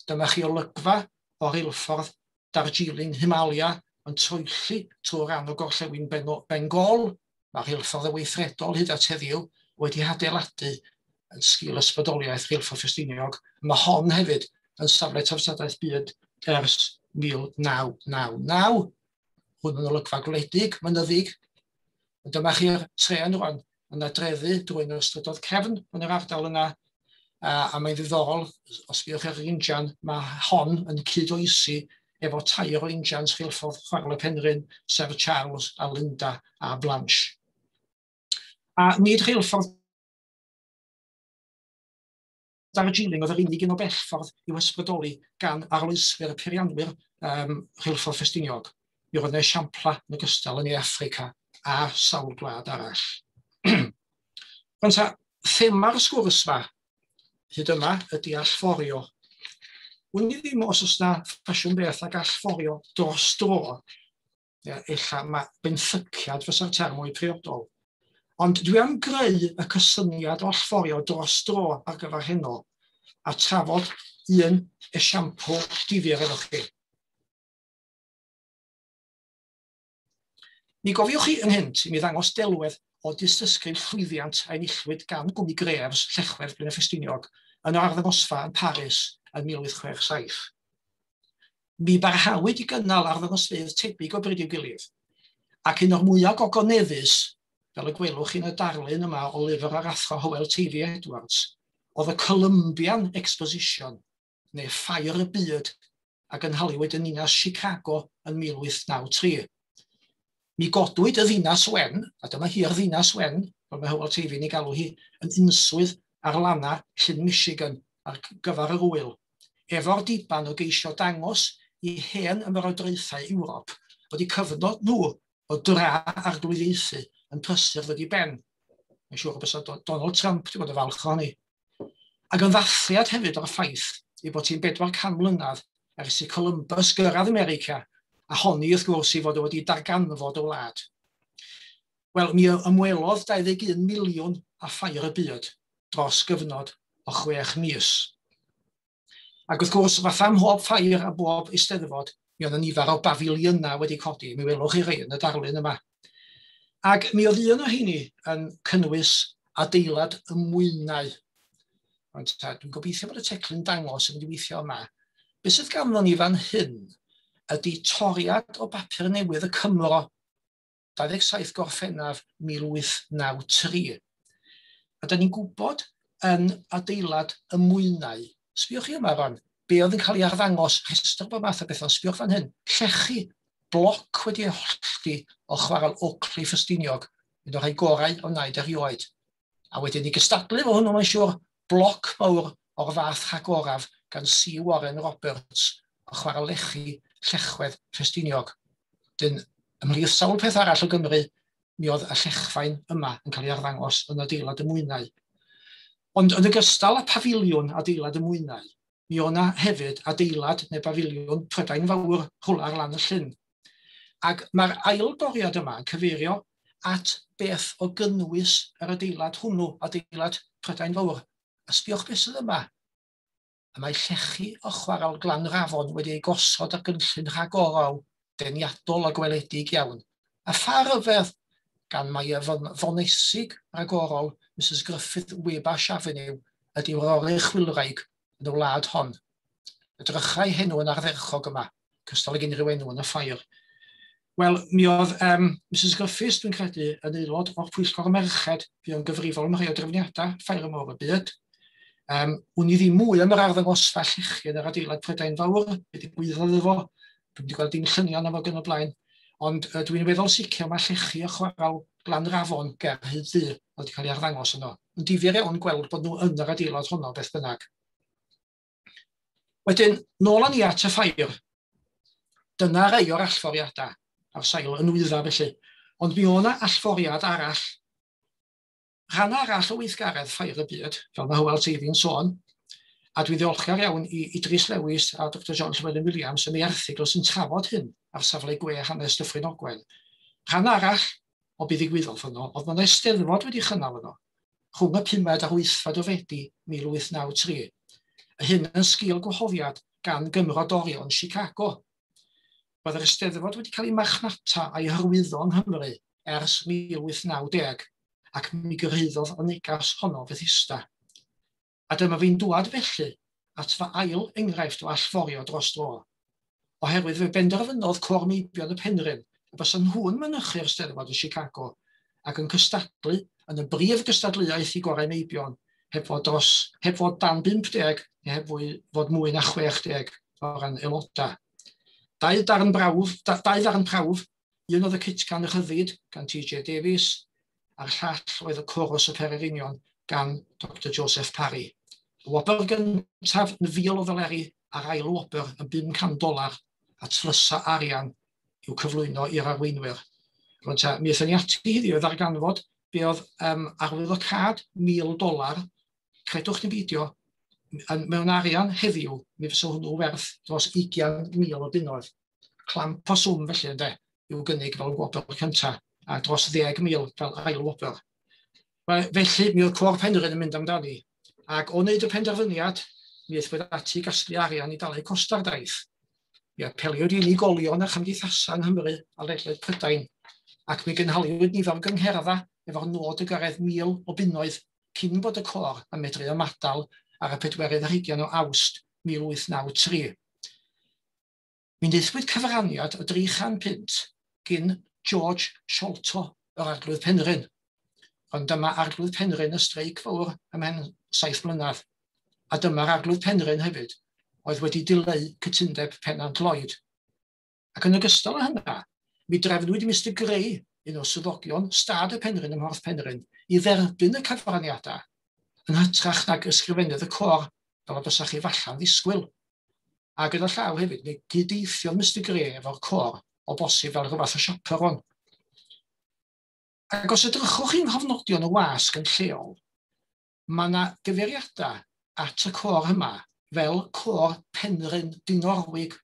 Dyma chi olygfa o reilffordd Darjeeling Himalaya yn troelli trwy ran o gorllewin Bengal. Mae'r rheilffordd y weithredol hyd at heddiw wedi hadeiladu yn sgil ysbrydoliaeth Rheilffordd Ffestiniog. Mae hon hefyd yn safle treftadaeth byd ers mil naw naw naw. Hwn yn olygfa gwledig, mynyddig. Dyma chi'r tren rwan yn adreddu drwy un o'r strydoedd cefn yn yr ardal yna. A, a mae'n ddiddorol, os byddwch ar yr injan, mae hon yn cydoesi efo tair o injans rheilffordd Chwarel y Penrhyn, sef Charles a Linda a Blanche. A nid rheilffordd Darjeeling oedd yr unig un o bellffordd i'w ysbrydoli gan arloeswyr y peirianwyr um, rheilffordd Ffestiniog. Mi roedd yna esiamplau yn ogystal yn Affrica a sawl gwlad arall. Rwan ta, thema'r sgwrs ma hyd yma ydy allforio. Wn i ddim os oes na ffasiwn beth ag allforio dros dro. Ella mae benthyciad fysa'r term mwy priodol. Ond dwi am greu y cysyniad o allforio dros dro ar gyfer heno a trafod un esiampl difyr efo chi. Mi gofiwch chi ynghynt i mi ddangos delwedd o dystysgrif llwyddiant a enillwyd gan gwmni Graves Llechwedd Blaenau Ffestiniog yn yr arddangosfa yn Paris yn mil wyth chwech saith. Mi barhawyd i gynnal arddangosfeydd tebyg o bryd i'w gilydd, ac un o'r mwyaf gogoneddus, fel y gwelwch yn y darlun yma o lyfr yr athro Hywel Teifi Edwards, oedd y Columbian Exposition, neu Ffair y Byd, a gynhaliwyd yn ninas Chicago yn mil wyth naw tri. Mi godwyd y ddinas wen, a dyma hi'r ddinas wen, fel mae Hywel Teifi'n ei galw hi, yn unswydd ar lana Llyn Michigan ar gyfer yr wyl, efo'r diban o geisio dangos i hen ymerodraethau Ewrop fod eu cyfnod nhw o dra arglwyddiaethu yn prysur ddod i ben. Mae'n siŵr bysa Donald Trump wedi bod yn falch ohoni. Ac yn ddathliad hefyd o'r ffaith ei bod hi'n bedwar can mlynedd ers i Columbus gyrraedd America, a honni wrth gwrs i fod o wedi darganfod y wlad. Wel, mi ymwelodd dau ddeg un miliwn â ffair y byd dros gyfnod o chwech mis. Ac wrth gwrs, fatha mhob ffair a bob eisteddfod, mi oedd nifer o bafiliynau wedi codi. Mi welwch chi rei yn y darlun yma. Ac mi oedd un o heini yn cynnwys adeilad y mwynau. Ond ta, dwi'n gobeithio bod y teclyn dangos yn mynd i weithio yma. Be sydd ganddo ni fan hyn ydy toriad o bapur newydd y Cymro, dau ddeg saith Gorffennaf mil wyth naw tri. A da ni'n gwybod yn adeilad y mwynau Sbiwch chi yma rwan, be oedd yn cael ei arddangos, rhestr bob math o bethau, sbiwch fan hyn, llechi, bloc wedi ei hollti o chwarel Oakley Ffestiniog, un o'r rhai gorau o wnaed erioed. A wedyn i gystadlu fo hwnnw, mae'n siŵr, bloc mawr o'r fath rhagoraf gan C. Warren Roberts o chwarel lechi Llechwedd Ffestiniog. Dyn, ymhlith sawl peth arall o Gymru, mi oedd y llechfaen yma yn cael ei arddangos yn adeilad y mwynau. Ond yn ogystal â pafiliwn adeilad y mwynau, mi oedd yna hefyd adeilad neu bafiliwn Prydain Fawr rhywle ar lan y llyn. Ac mae'r ail doriad yma yn cyfeirio at beth o gynnwys yr adeilad hwnnw, adeilad Prydain Fawr. A sbiwch beth sydd yma. A mae llechi o chwarel Glanrafon wedi ei gosod ar gynllun rhagorol, deniadol a gweledig iawn. A pha ryfedd, gan mai y fonesig ragorol Missus Griffith Wabash Avenue ydy'r oruchwylwraig yn y wlad hon. Edrychai henw yn ardderchog yma, cystal ag unrhyw enw yn y ffair. Wel, mi oedd um, Missus Griffiths, dwi'n credu, yn aelod o'r Pwyllgor Merched, fu'n gyfrifol am rhai o drefniadau Ffair y Môr y Byd. Um, wn i ddim mwy am yr arddangosfa llechi yn yr adeilad Prydain Fawr, be ddigwyddodd efo, dwi'n wedi gweld dim lluniau na fo gan y blaen, ond uh, dwi'n weddol sicr mae llechi o chwarel Glanrafon ger Rhyd Ddu oedd wedi cael ei arddangos yno. Yn difyr iawn gweld bod nhw yn yr adeilad honno beth bynnag. Wedyn, nôl â ni at y ffair. Dyna rai o'r allforiadau ar sail y nwyddau felly. Ond mi oedd yna allforiad arall. Rhan arall o weithgaredd Ffair y Byd, fel mae Hywel Teifi'n sôn, a dwi'n ddiolchgar iawn i Idris Lewis a Doctor John Llewellyn Williams am ei erthygl sy'n trafod hyn ar safle gwe hanes Dyffryn Ogwen. Rhan arall o be ddigwyddodd yno, oedd mae'n eisteddfod wedi chynnal yno, rhwng y pumed a'r wythfed o Fedi mil wyth naw tri. A hyn yn sgil gwahoddiad gan gymrodorion Chicago. Roedd yr eisteddfod wedi cael ei marchnata a'i hyrwyddo yng Nghymru ers mil wyth naw deg, ac mi gyrhaeddodd y negas honno Fethesda. A dyma fi'n dŵad felly at fy ail enghraifft o allforio dros dro. Oherwydd fe benderfynodd Côr Meibion y Penrhyn y bysa nhw'n mynychu'r Steddfod yn Chicago ac yn cystadlu yn y brif gystadleuaeth i gorau meibion heb fod, dros, heb fod dan bump deg neu heb fwy, fod mwy na chwech deg o ran aelodau. Dau darn brawf, da, dau ddarn prawf, un oedd y Cytgan y Rhyddid gan T J Davies a'r llall oedd y Chorus y Pererinion gan Doctor Joseph Parry. Y wobr gyntaf yn fil o ddoleri a'r ail wobr yn bum can dolar a tlysa arian i'w cyflwyno i'r arweinwyr. Rwan ta, mi aethon ni ati heddiw i ddarganfod be oedd um, arwyddocâd mil dolar, credwch neu beidio, mewn arian heddiw, mi fysa hwnnw werth dros ugain mil o bunnoedd. Clamp o swm felly ynde, i'w gynnig fel gwobr cyntaf, a dros ddeg mil fel ail wobr. Felly, mi oedd Côr Penrhyn yn mynd amdani, ac o wneud y penderfyniad, mi aethpwyd ati i gasglu arian i dalu costa'r daith. Mi apeliwyd i unigolion a chymdeithasau yng Nghymru a ledled Prydain, ac mi gynhaliwyd nifer o gyngherddau efo'r nod o gyrraedd mil o bunnoedd cyn bod y côr yn medru ymadael ar y pedwerydd ar hugain o Awst mil wyth naw tri. Mi wnaethpwyd cyfraniad o dri chan punt gyn George Sholto o'r Arglwydd Penrhyn. Ond dyma Arglwydd Penrhyn y streic fawr ymhen saith mlynedd. A dyma'r Arglwydd Penrhyn hefyd, oedd wedi dileu cytundeb Pennant Lloyd. Ac yn ogystal â hynna, mi drefnwyd Mister Gray, un o swyddogion stad y Penrhyn ym Mhorth Penrhyn, i dderbyn y cyfraniadau yn hytrach nag ysgrifennydd y côr, fel y bysach chi falla'n ddisgwyl. A gyda llaw hefyd, mi gydweithiodd Mister Gray efo'r côr o bosib fel rhywbeth o chaperon. Ac os edrychwch chi'n nghofnodion y wasg yn lleol, mae yna gyfeiriadau at y côr yma fel Côr Penrhyn Dinorwig.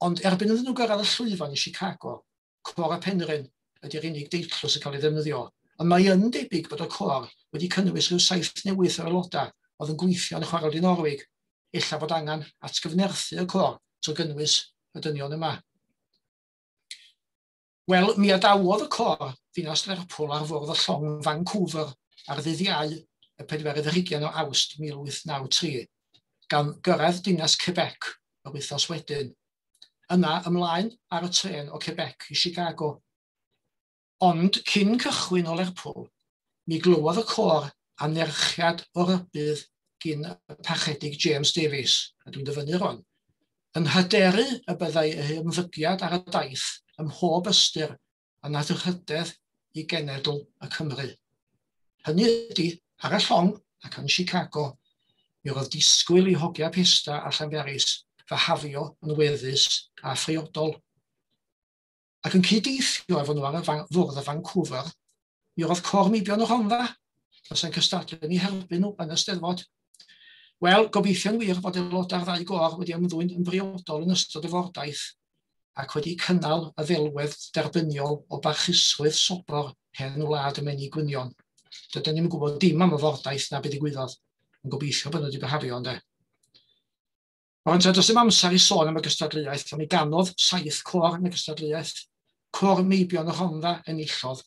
Ond erbyn iddyn nhw gyrraedd y llwyfan i Chicago, Côr y Penrhyn ydy'r unig deitl sy'n cael ei ddefnyddio. Ond mae yn debyg bod y côr wedi cynnwys rhyw saith neu wyth o aelodau oedd yn gweithio yn y chwarel Dinorwig. Ella bod angen atgyfnerthu y côr trwy gynnwys y dynion yma. Wel, mi adawodd y côr ddinas Lerpwl ar fwrdd y llong Vancouver ar ddydd Iau y pedwerydd ar hugain o Awst mil wyth naw tri, gan gyrraedd dinas Quebec yr wythnos wedyn. Yna ymlaen ar y trên o Quebec i Chicago. Ond cyn cychwyn o Lerpwl, mi glywodd y côr anerchiad o rybudd gyn y Parchedig James Davies, a dwi'n dyfynnu rwan, yn hyderu y byddai eu ymddygiad ar y daith ym mhob ystyr yn anrhydedd i genedl y Cymru. Hynny ydy, ar y llong ac yn Chicago, mi roedd disgwyl i hogia Pesda a Llanberis fahafio yn weddus a phriodol. Ac yn cyddeithio efo nhw ar y fwrdd y Vancouver, mi roedd Côr Meibion y Rhondda, fysa'n cystadlu yn eu herbyn nhw yn y Steddfod. Wel, gobeithio'n wir fod aelodau'r ddau gôr wedi ymddwyn yn briodol yn ystod y fordaith ac wedi cynnal y ddelwedd derbyniol o barchusrwydd sobor hen wlad y menig gwynion. Dydyn ni'm yn gwybod dim am y fordaith na beth ddigwyddodd, yn gobeithio bod nhw wedi byhafio, ynde. Ond does dim amser i sôn am y gystadleuaeth, ond mi ganodd saith côr yn y gystadleuaeth. Côr Meibion y Rhondda enillodd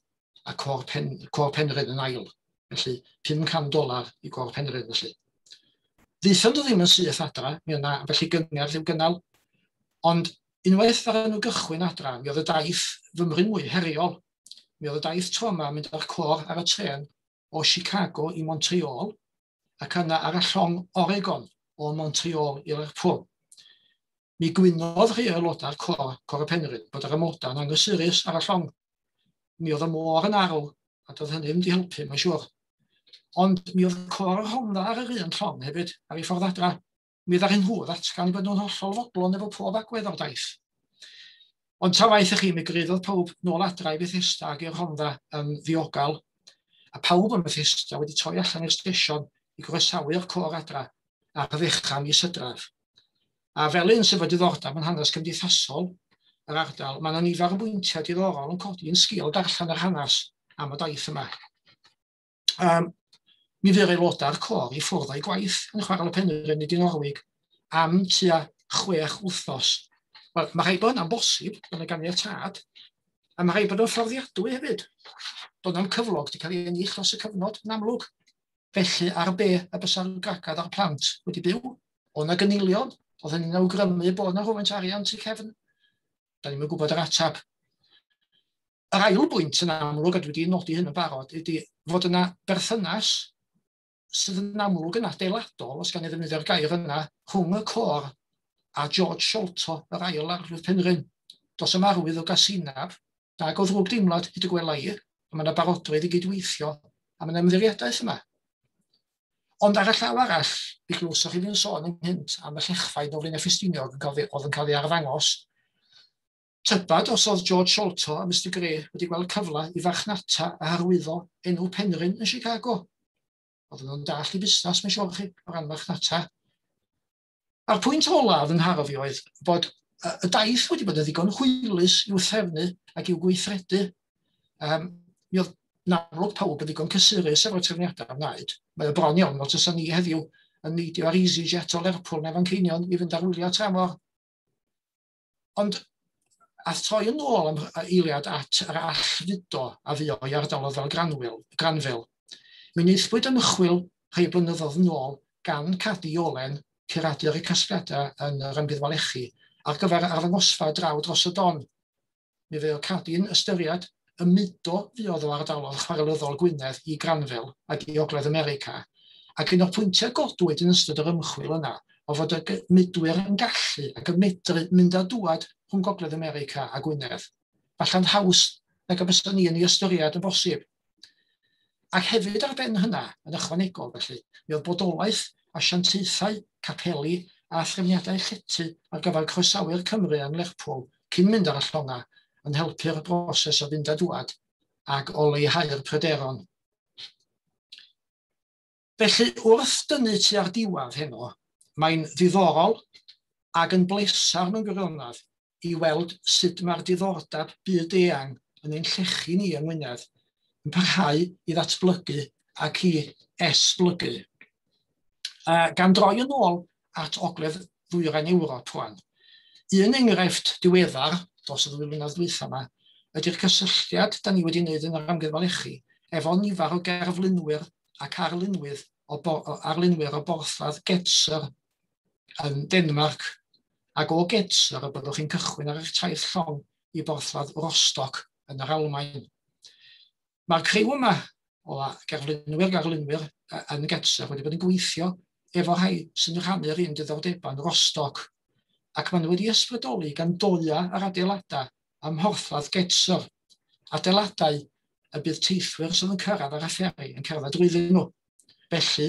a Côr, Pen, Côr Penrhyn yn ail. Felly, pum can dolar i Gôr Penrhyn, felly. Ddaethon nhw ddim yn syth adra, mi yna felly gyngerdd i'w gynnal, ond unwaith ar nhw gychwyn adra, mi oedd y daith fymryn mwy heriol. Mi oedd y daith tro yma mynd â'r côr ar y trên o Chicago i Montreal ac yna ar y llong Oregon o Montreal i Lerpwl. Mi gwynodd rhai aelodau'r côr, Côr y Penrhyn, bod yr amodau'n anghysurus ar y llong. Mi oedd y môr yn arw, a doedd hynny ddim wedi helpu, mae'n siŵr. Ond mi oedd Côr y Rhondda ar yr un llong hefyd, ar ei ffordd adra. Mi ddaru nhw ddatgan bod nhw'n hollol fodlon efo pob agwedd o'r daith. Ond ta waeth i chi, mi gyrhaeddodd pawb nôl adra i Bethesda ac i'r Rhondda yn ddiogel, a pawb yn Bethesda wedi troi allan i'r stesion i groesawu'r côr adra ar ddechrau mis Hydref. A fel un sydd efo diddordeb yn hanes cymdeithasol yr ardal, mae yna nifer o bwyntiau diddorol yn codi yn sgil darllen yr hanes am y daith yma. Um, mi fu'r aelodau'r côr i ffwrdd o'i gwaith yn Chwarel y Penrhyn i Dinorwig am tua chwech wythnos. Wel, mae rhaid bod hynna'n bosib, bod yna ganiatâd, a mae rhaid bod yn fforddiadwy hefyd. Doedd na'm cyflog wedi cael ei ennill dros y cyfnod yn amlwg. Felly, ar be y bysa'r gwragedd a'r plant wedi byw? O na gynilion? Oedd hynny'n awgrymu bod yna rhywfaint arian tu cefn? Da ni'm yn gwybod yr ateb. Yr ail bwynt yn amlwg, a dwi wedi nodi hyn yn barod, ydy fod yna berthynas sydd yn amlwg yn adeiladol, os gan i ddefnyddio'r gair yna, rhwng y côr a George Sholto, yr ail arglwydd Penrhyn. Does dim arwydd o gasinab, nag o ddrwg deimlad hyd y gwela i, a mae yna barodrwydd i gydweithio, a mae yna ymddiriedaeth yma. Ond ar y llaw arall, mi glywsoch chi fi'n sôn ynghynt am y llechfaen o Flaenau Ffestiniog yn cael ei, oedd yn cael ei arddangos. Tybad os oedd George Sholto a Mister Grey wedi gweld cyfle i farchnata a hyrwyddo enw Penrhyn yn Chicago. Oedden nhw'n dallt i busnes, mae'n siŵr chi, o ran marchnata. A'r pwynt olaf yn nharo fi oedd bod y daith wedi bod yn ddigon hwylus i'w threfnu ac i'w gweithredu. Um, mi oedd yn amlwg pawb yn ddigon cysurus efo'r trefniadau wnaed. Mae o bron iawn fel tysa ni heddiw yn neidio ar EasyJet o Lerpwl neu Fanceinion i fynd ar wyliau tramor. Ond a troi yn ôl am eiliad at yr allfudo a fuo i ardaloedd fel Granville, Granville, mi wnaethpwyd ymchwil rhai blynyddoedd yn ôl gan Cadi Iolen, curadur y casgliadau yn yr Amgueddfa Lechi, ar gyfer arddangosfa draw dros y don. Mi fuodd Cadi'n ystyried y mudo fuodd o ardaloedd chwarelyddol Gwynedd i Granville ac i Ogledd America, ac un o'r pwyntiau godwyd yn ystod yr ymchwil yna o fod y mudwyr yn gallu ac yn medru mynd a dŵad rhwng Gogledd America a Gwynedd. Falle'n haws nag y byswn ni yn ei ystyried yn bosib. Ac hefyd ar ben hynna, yn ychwanegol felly, mi oedd bodolaeth asiantaethau, capeli a threfniadau llety ar gyfer croesawu'r Cymru yn Lerpwl cyn mynd ar y llonga yn helpu'r broses o fynd a dŵad ac o leihau'r pryderon. Felly, wrth dynnu tua'r diwedd heno, mae'n ddiddorol ac yn blesar mewn gwirionedd i weld sut mae'r diddordeb byd eang yn ein llechi ni yng Ngwynedd yn parhau i ddatblygu ac i esblygu. Uh, gan droi yn ôl at Ogledd Ddwyrain Ewrop rwan, un enghraifft diweddar dros y ddwy flynedd dwytha yma ydy'r cysylltiad da ni wedi wneud yn yr Amgueddfa Lechi efo nifer o gerflunwyr ac arlunwyr o, bo, arlunwyr o borthladd Gedser yn Denmark, ac o Gedser y byddwch chi'n cychwyn ar eich taith llong i borthladd Rostock yn yr Almaen. Mae'r criw yma o gerflunwyr arlunwyr yn Gedser wedi bod yn gweithio efo rhai sy'n rhannu'r un diddordebau yn Rostock, ac maen nhw wedi ysbrydoli gan doia yr adeiladau ym mhorthladd Gedser, adeiladau y bydd teithwyr sydd yn cyrraedd ar y fferi yn cerdded drwyddyn nhw. Felly,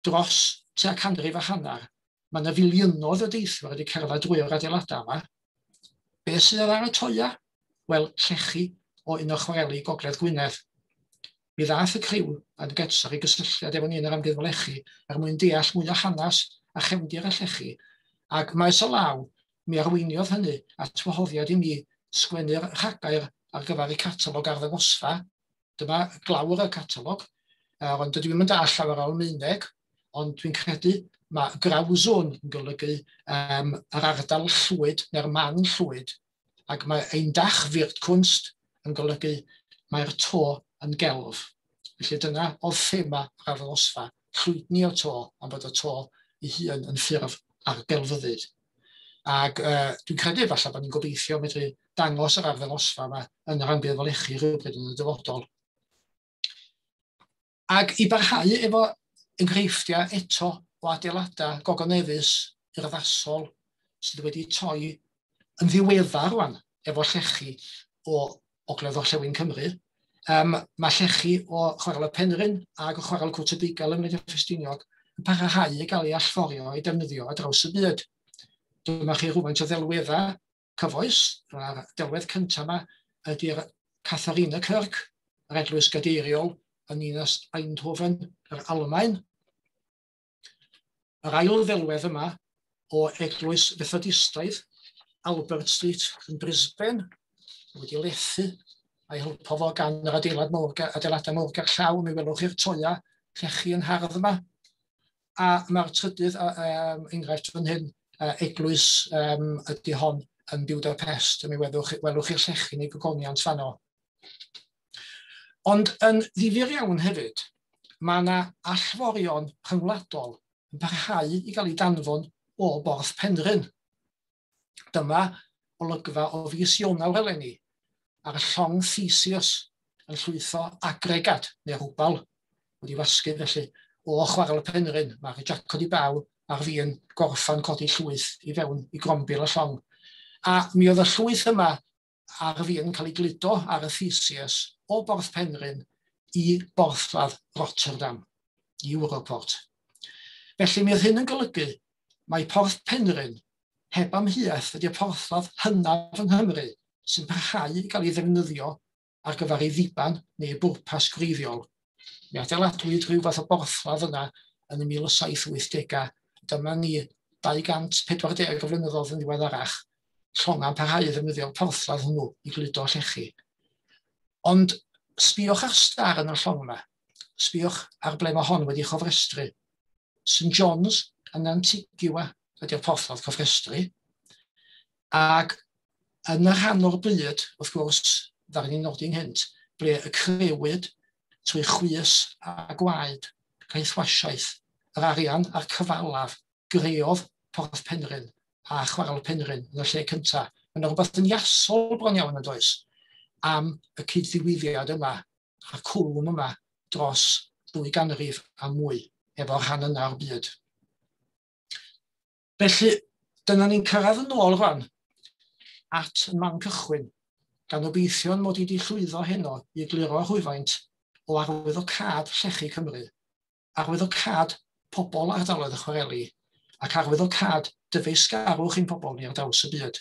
dros tua canrif a hanner, mae yna filiynoedd o deithwyr wedi cerdded drwy'r adeiladau yma. Be sydd ar y toia? Wel, llechi o un o chwareli Gogledd Gwynedd. Mi ddaeth y criw yn Gedser i gysylltiad efo ni yn yr Amgueddfa Lechi er mwyn deall mwy o hanes a chefndir y llechi, ac maes o law, mi arweiniodd hynny at wahoddiad i mi sgwennu'r rhagair ar gyfer y catalog arddangosfa. Dyma glawr y catalog, ond dydw i'm yn deall llawer o Almaeneg, ond dwi'n credu mae Grauzone yn golygu um, yr ardal llwyd neu'r man llwyd, ac mae ein Dach wird Kunst yn golygu mae'r to yn gelf. Felly dyna oedd thema yr arddangosfa, llwydni o to, am bod y to ei hun yn ffurf ar gelfyddyd. Ac uh, dwi'n credu falle bod ni'n gobeithio medru dangos yr arddangosfa yma yn yr Amgueddfa Lechi rhywbryd yn y dyfodol. Ac i barhau efo enghreifftiau eto o adeiladau gogoneddus urddasol sydd wedi toi yn ddiweddar rwan efo llechi o Ogledd Orllewin Cymru. Um, mae llechi o Chwarel y Penrhyn ac o Chwarel Cwt y Bugail ym Mlaenau Ffestiniog yn parhau i gael ei allforio a'i defnyddio ar draws y byd. Dyma chi rhywfaint o ddelweddau cyfoes. Mae'r delwedd cyntaf yma ydy'r Katharina Kirk, yr eglwys gadeiriol yn ninas Eindhoven, yr Almaen. Yr ail ddelwedd yma o eglwys Fethodistaidd, Albert Street yn Brisbane, wedi lethu a'i helpo fo gan yr adeilad mawr, adeiladau mawr gerllaw. Mi welwch chi'r toia llechi yn hardd yma. A mae'r trydydd um, enghraifft fan hyn, uh, eglwys um, ydy hon yn Budapest, mi welwch, welwch chi'r llechi neu gogoniant fanno. Ond yn ddifyr iawn hefyd, mae yna allforion rhyngwladol yn parhau i gael ei danfon o Borth Penrhyn. Dyma olygfa o fis Ionawr eleni ar y llong Theseus yn llwytho agregad neu rwbal wedi wasgu felly o Chwarel y Penrhyn. Mae'r jacod i baw ar fin gorffan codi llwyth i fewn i grombil y llong. A mi oedd y llwyth yma ar fin cael ei gludo ar y Theseus o Borth Penrhyn i borthladd Rotterdam, i Europort. Felly mi oedd hyn yn golygu mae Porth Penrhyn heb amheuaeth ydy'r porthladd hynaf yng Nghymru sy'n parhau i gael ei ddefnyddio ar gyfer ei ddiban neu ei bwrpas gwreiddiol. Mi adeiladwyd rhyw fath o borthladd yna yn y mil saith wythdegau. Dyma ni dau gant pedwar deg o flynyddoedd yn ddiweddarach, llonga'n parhau i ddefnyddio'r porthladd hwnnw i gludo llechi. Ond sbïwch ar star yn y llong yma. Sbïwch ar ble mae hon wedi chofrestru. Saint John's yn Antigua ydy'r porthladd cofrestru. Ac yn y rhan o'r byd, wrth gwrs, ddaru ni nodi ynghynt, ble y crëwyd trwy chwys a gwaed, caethwasiaeth, yr arian a'r cyfalaf greodd Porth Penrhyn a Chwarel Penrhyn yn y lle cyntaf. Mae yna rhywbeth yn iasol bron iawn yn does am y cyd-ddigwyddiad yma a'r cwlwm yma dros ddwy ganrif a mwy efo'r rhan yna o'r byd. Felly, dyna ni'n cyrraedd yn ôl rwan at y man cychwyn, gan obeithio mod i wedi llwyddo heno i egluro rhywfaint o arwyddocâd llechi Cymru, arwyddocâd pobl ardaloedd y chwareli, ac arwyddocâd dyfeisgarwch ein pobl ni ar draws y byd.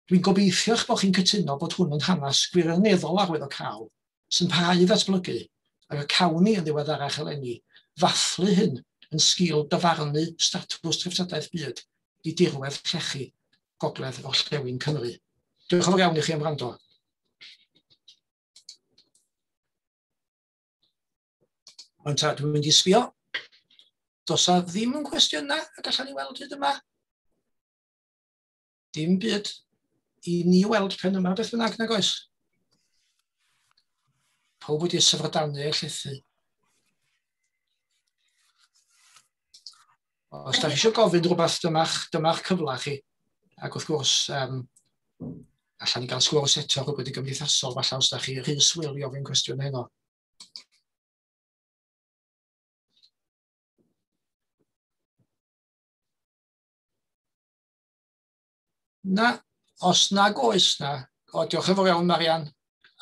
Dwi'n gobeithio eich bod chi'n cytuno bod hwn yn hanes gwirioneddol arwyddocaol sy'n parhau i ddatblygu, ac y cawn ni yn ddiweddarach eleni ddathlu hyn yn sgil dyfarnu statws treftadaeth byd i dirwedd llechi Gogledd Orllewin Cymru. Diolch yn fawr iawn i chi am wrando. Ond ta, dwi'n mynd i sbio. Does 'na ddim yn cwestiynau y gallan ni weld hyd yma. Dim byd i ni weld pen yma, beth bynnag, nag oes? Pawb wedi syfrdanu a llethu. Os da chi eisiau gofyn rhywbeth, dyma'ch, dyma'ch cyfle chi. Ac wrth gwrs, um, allan ni gael sgwrs eto rhywbeth i gymdeithasol, falle os da chi rhy swil i ofyn cwestiwn heno. Na, os nag oes na, o, diolch yn fawr iawn, Marian.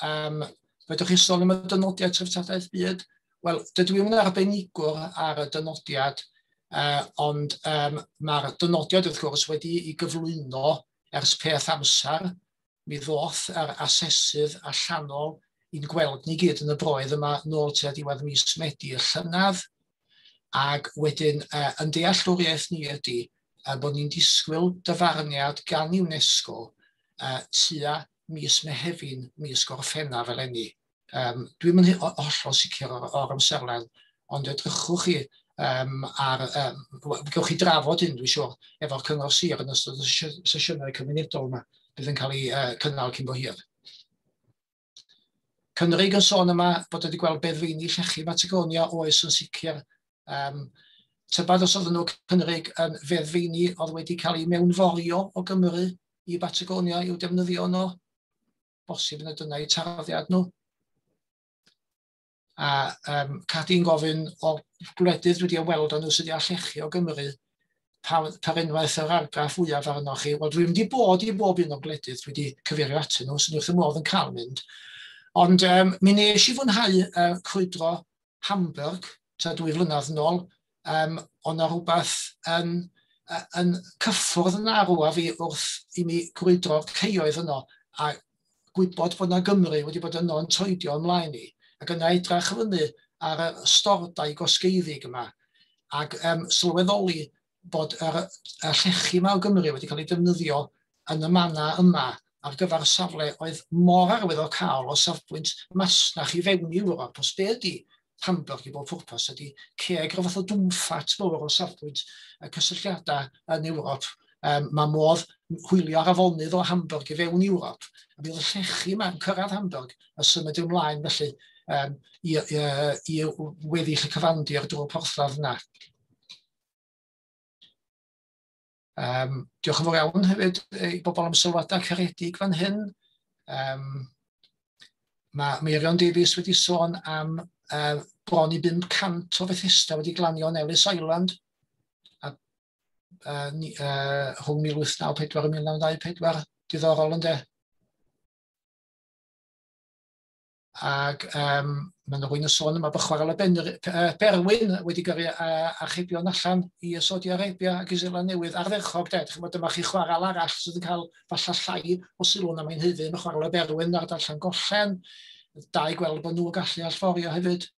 Um, fedrwch chi sôn am y dynodiad treftadaeth byd? Wel, dydw i'm yn arbenigwr ar y dynodiad, uh, ond um, mae'r dynodiad wrth gwrs wedi ei gyflwyno ers peth amser. Mi ddoth yr asesydd allanol i'n gweld ni gyd yn y broedd yma nôl tua diwedd mis Medi y llynedd, ac wedyn uh, yn dealltwriaeth ni ydy uh, bod ni'n disgwyl dyfarniad gan UNESCO uh, tua mis Mehefin, mis Gorffennaf eleni. Um, Dwi'm yn hollol sicr o'r, o'r amserlen, ond edrychwch chi um, ar, um, gewch chi drafod hyn, dwi'n siŵr, efo'r Cyngor Sir yn ystod y sesiynau cymunedol yma, bydd yn cael ei uh, cynnal cyn bo hir. Cynrig yn sôn yma bod wedi gweld beddfeini llechi Patagonia oes yn sicr. Um, tybad os oedden nhw Cynrig yn feddfeini oedd wedi cael ei mewnforio o Gymru i Batagonia i'w defnyddio yno. Bosib yna dyna eu tarddiad nhw. A um, Cadi'n gofyn o'r gwledydd wedi ymweld â nhw sydd wedi llechi o Gymru, pa, pa unwaith yr argraff fwyaf arnoch chi? Wel, dwi'n wedi bod i bob un o'r gwledydd dwi wedi cyfeirio atyn nhw, sy'n wrth y modd yn cael mynd. Ond um, mi nes i fwynhau uh, crwydro Hamburg, tua dwy flynedd yn ôl, um, ond na rhywbeth yn, yn cyffwrdd yn arw a fi wrth i mi crwydro'r ceioedd yno, a gwybod bod na Gymru wedi bod yno yn troedio ymlaen i, ac yna edrach fyny ar y stordau gosgeiddig yma, ac um, sylweddoli bod yr, y llechi yma o Gymru wedi cael ei defnyddio yn y mannau yma ar gyfer safle oedd mor arwyddocaol o safbwynt masnach i fewn i Ewrop. Os be ydy Hamburg i bob pwrpas ydy ceg rhyw fath o dwmffat mawr o safbwynt y cysylltiadau yn Ewrop. Um, mae modd hwylio ar afonydd o Hamburg i fewn i Ewrop. A bydd y llechi yma yn cyrraedd Hamburg a symud ymlaen felly um, i, i, i weddill y cyfandir drwy'r porthladd yna. Um, diolch yn fawr iawn hefyd i bobl am sylwadau caredig fan hyn. Um, mae Meirion Davies wedi sôn am uh, bron i bum cant o Fethesda wedi glanio yn Ellis Island a, uh, ni, uh, rhwng mil wyth naw pedwar a mil naw dau pedwar. Diddorol ynde? Ac um, mae yna rhywun yn sôn yma bod chwarel y Berwyn wedi gyrru uh, archebion allan i Saudi Arabia ac i Seland Newydd ardderchog de. Chimod, dyma chi chwarel arall sydd yn cael falle llai o sylw na mae'n haeddu. Mae chwarel y Berwyn ar ardal Llangollen. Da i gweld bod nhw'n gallu allforio hefyd.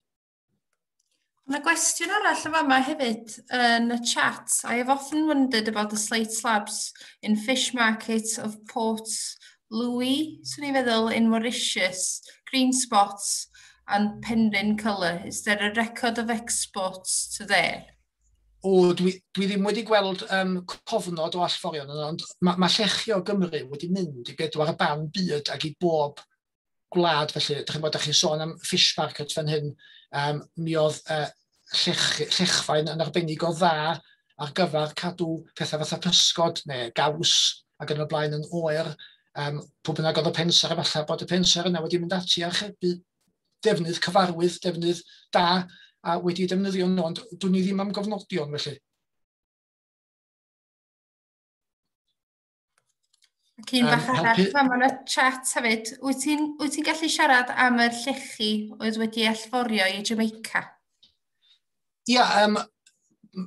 Mae gwestiwn arall yn fama hefyd yn y chat. I have often wondered about the slate slabs in fish market of Port Louis, swn i'n feddwl, in Mauritius, green spots and Penrhyn colour. Is there a record of exports to there? O, dwi, dwi ddim wedi gweld um, cofnod o allforion yna, ond mae ma llechi o Gymru wedi mynd i bedwar ban byd ac i bob gwlad felly. Dych chi'n bod, chi'n sôn am fish market fan hyn, um, mi oedd uh, llech, llechfaen yn arbennig o dda ar gyfer cadw pethau fatha pysgod neu gaws ac yn y blaen yn oer. Um, pwy bynnag oedd y pensaer, efallai bod y pensaer yna wedi mynd ati archebu defnydd cyfarwydd, defnydd da, a wedi defnyddio nhw, ond dwn i ddim am gofnodion felly. Ac un bach um, arall, fan yn y chat hefyd, wyt ti'n wyt ti'n gallu siarad am yr llechi oedd wedi allforio i Jamaica? Ia, um,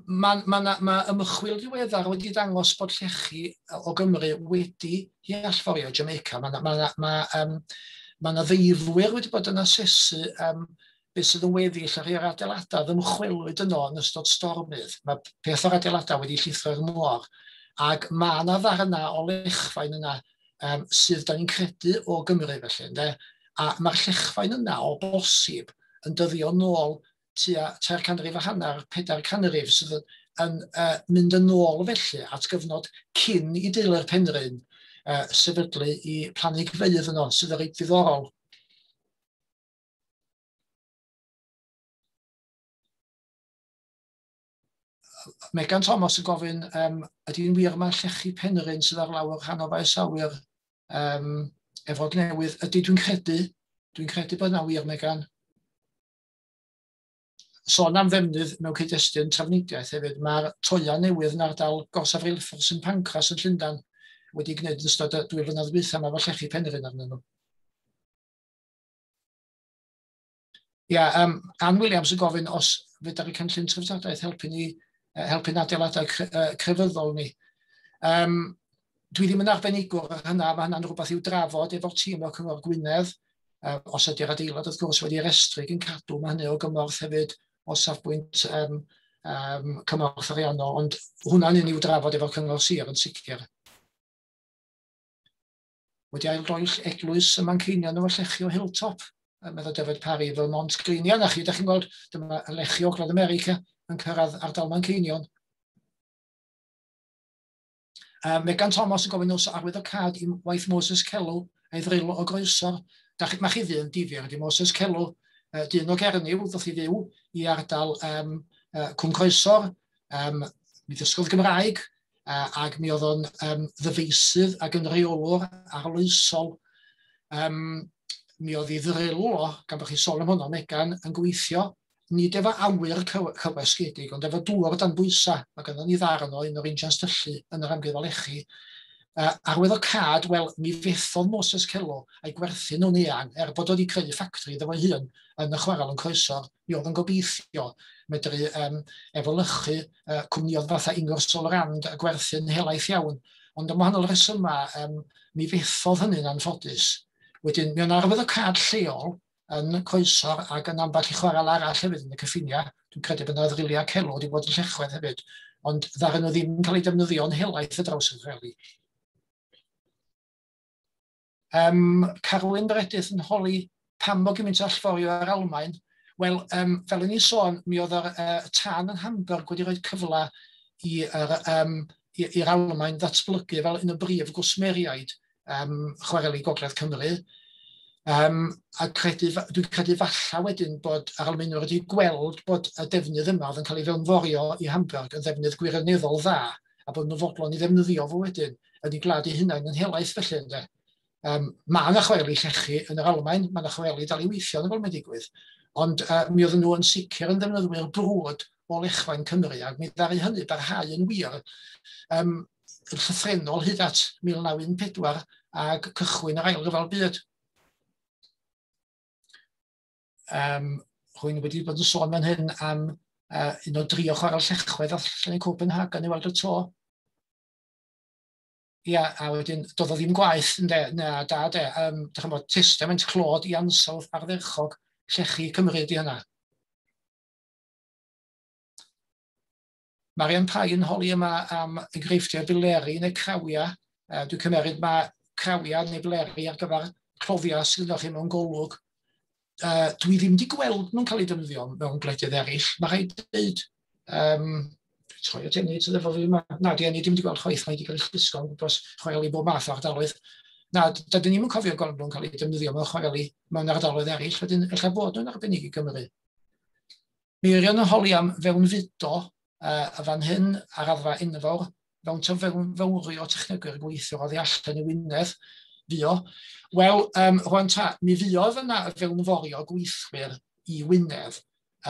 mae ma, ma, ma ymchwil diweddar wedi dangos bod llechi o Gymru wedi i allforio i Jamaica. Mae ma, ma, ma, um, ma 'na ddeifwyr wedi bod yn asesu um, beth sydd yn weddill ar i'r adeiladau ddymchwelwyd yno yn ystod stormydd. Mae peth o'r adeiladau wedi llithro i'r môr. Ac mae yna ddarna o lechfaen yna um, sydd da ni'n credu o Gymru felly. Ynde? A mae'r llechfaen yna o bosib yn dyddio nôl tua tair canrif a hanner, pedair canrif sydd yn, yn uh, mynd yn ôl felly at gyfnod cyn i deulu'r Penrhyn uh, sefydlu i planhigfeydd yno, sydd yn reit ddiddorol. Megan Thomas yn gofyn, um, ydy'n wir mae llechi Penrhyn sydd ar lawr rhan o faes awyr um, Efrog Newydd? Ydy, dwi'n credu, dwi'n credu bod yna wir, Megan. Sôn am ddefnydd mewn cyd-destun trafnidiaeth hefyd, mae'r toia newydd yn ardal gorsaf reilffordd Saint Pancras yn Llundain wedi gwneud yn ystod y dwy flynedd dwytha yma efo llechi Penrhyn arnyn nhw. Ia, um, Ann Williams yn gofyn os fedar y cynllun treftadaeth helpu ni, helpu'n adeiladau crefyddol ni. Um, dwi ddim yn arbenigwr ar hynna, mae hynna'n rhywbeth i'w drafod efo'r tîm o'r Cyngor Gwynedd. Uh, os ydy'r adeilad wrth gwrs wedi restru yn cadw, mae hynny o gymorth hefyd o safbwynt um, um, cymorth ariannol, ond hwnna'n un i'w drafod efo'r Cyngor Sir yn sicr. Wedi aildroill eglwys y Manceinion efo llechi o Hilltop, meddwl David Parry fel Mont Green. Ia, na chi, da chi'n gweld, dyma lechi o Gogledd America yn cyrraedd ardal Manceinion. Uh, Megan Thomas yn gofyn os arwyddocâd i waith Moses Kellow a'i ddril o Groesor. Da chi, mae chi ddyn difyr, ydy Moses Kellow, uh, dyn o Gernyw, ddoth i fyw i ardal um, uh, Cwm Croesor, um, mi ddysgodd Gymraeg, uh, ac mi oedd o'n um, ddyfeisydd ac yn reolwr arloesol. Um, mi oedd ei ddril o, gan bod chi sôn am hwnnw, Megan, yn gweithio, nid efo awyr cywasgedig, ond efo dŵr dan bwysau. Mae gynnon ni ddarn o un o'r injans tyllu yn yr amgueddfa lechi. Uh, arwyddocâd, wel, mi fethodd Moses Kellow a'i gwerthu nhw'n eang, er bod wedi creu ffactri iddo fo'i hun yn y chwarel yn Croesor, mi oedd yn gobeithio medru um, efelychu uh, cwmnïoedd fatha Ingersoll Rand a gwerthu'n helaeth iawn. Ond am wahanol resymau, um, mi fethodd hynny'n anffodus. Wedyn, mi o'n arwyddocâd lleol yn Croesor ac yn ambell i chwarel arall hefyd yn y cyffiniau. Dwi'n credu bod yna ddriliau Kellow wedi bod yn Llechwedd hefyd, ond ddaru nhw ddim yn cael eu defnyddio'n helaeth y draws y chwareli. Um, Carwyn Meredith yn holi pam bod gymaint o allforio ar Almaen. Wel, um, fel o'n i'n sôn, mi oedd yr uh, tân yn Hamburg wedi rhoi cyfle i'r um, i'r Almaen ddatblygu fel un o brif gwsmeriaid um, chwareli Gogledd Cymru. Um, a credu, dwi'n credu falla wedyn bod yr Almaenwyr wedi gweld bod y defnydd yma oedd yn cael ei fewnforio i Hamburg yn ddefnydd gwirioneddol dda, a bod nhw fodlon i ddefnyddio fo wedyn yn ei gwlad eu hunain yn helaeth felly, ynde. Um, mae yna chwareli llechi yn yr Almaen, mae yna chwareli dal i weithio yn y fel mae'n digwydd, ond uh, mi oedden nhw yn sicr yn ddefnyddwyr brwd o lechfaen Cymru, ac mi ddaru hynny barhau yn wir um, yn llythrennol hyd at mil naw un pedwar ac cychwyn yr Ail Ryfel Byd. Um, rwy'n wedi bod yn sôn fan hyn am uh, un o dri o chwarel Llechwedd allan yn Copenhagen i weld y to. Ia, a wedyn, doedd o ddim gwaith, ynde, na, da, de, um, dych chi'n bod, testament clod i ansawdd ardderchog llechi Cymru ydi hynna. Marian Pai yn holi yma am enghreifftiau bileri neu crawia. Uh, dwi'n cymeryd mae crawia neu bileri ar gyfer cloddiau sydd gyda chi mewn golwg. Uh, dwi ddim wedi gweld nhw'n cael eu defnyddio mewn gwledydd eraill. Mae rhaid dweud, um, troi at Enid sydd efo fi yma. Na, di Enid ddim wedi gweld chwaith, mae wedi cael ei llusgo yn gwmpas chwareli bob math o ardaloedd. Na, dydyn ni'm yn cofio gweld nhw'n cael eu defnyddio mewn chwareli mewn ardaloedd eraill, wedyn ella bod nhw'n arbennig i Gymru. Mirion yn holi am fewnfudo uh, a fan hyn ar raddfa enfawr, fewn to fewnfowrio technegwyr gweithio oddi allan i Wynedd, fuo. Wel, um, rwan ta, mi fuodd yna fewnforio gweithwyr i Wynedd,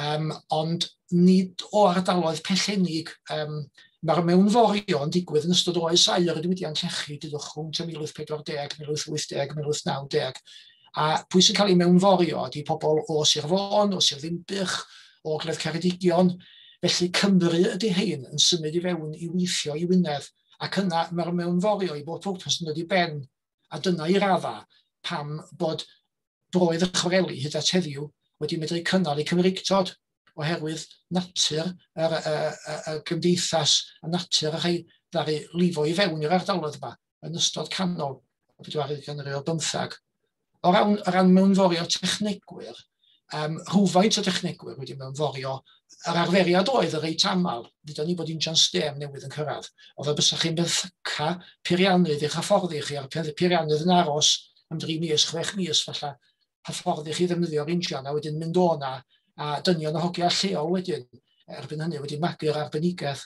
um, ond nid o ardaloedd pellennig. Um, Mae'r mewnforio yn digwydd yn ystod oes aur y diwydiant llechi, dydwch rhwng mil wyth pedwar deg, mil wyth wyth deg, mil wyth naw deg. A pwy sy'n cael ei mewnforio ydy pobl o Sir Fôn, o Sir Ddinbych, o Ogledd Ceredigion. Felly Cymru ydy hein yn symud i fewn i weithio i Wynedd, ac yna mae'r mewnforio i bob pwrpas yn dod i ben. A dyna i radda pam bod broedd y chwareli hyd at heddiw wedi medru cynnal eu Cymreictod, oherwydd natur yr, y, y, y gymdeithas a natur y rhai ddaru lifo i fewn i'r ardaloedd yma yn ystod canol y bedwaredd ganrif ar bymthag. O ran, o ran mewnforio technegwyr, um, rhywfaint o technegwyr wedi mewnforio, yr arferiad oedd y reit aml, ddeudon ni bod injan stêm newydd yn cyrraedd, oedd y bysach chi'n benthyca peiriannydd i'ch hyfforddi chi, a'r peiriannydd yn aros am dri mis, chwech mis falle, hyfforddi chi ddefnyddio'r injan, a wedyn mynd o na, a dynion o hogia lleol wedyn, erbyn hynny wedi magu'r arbenigedd.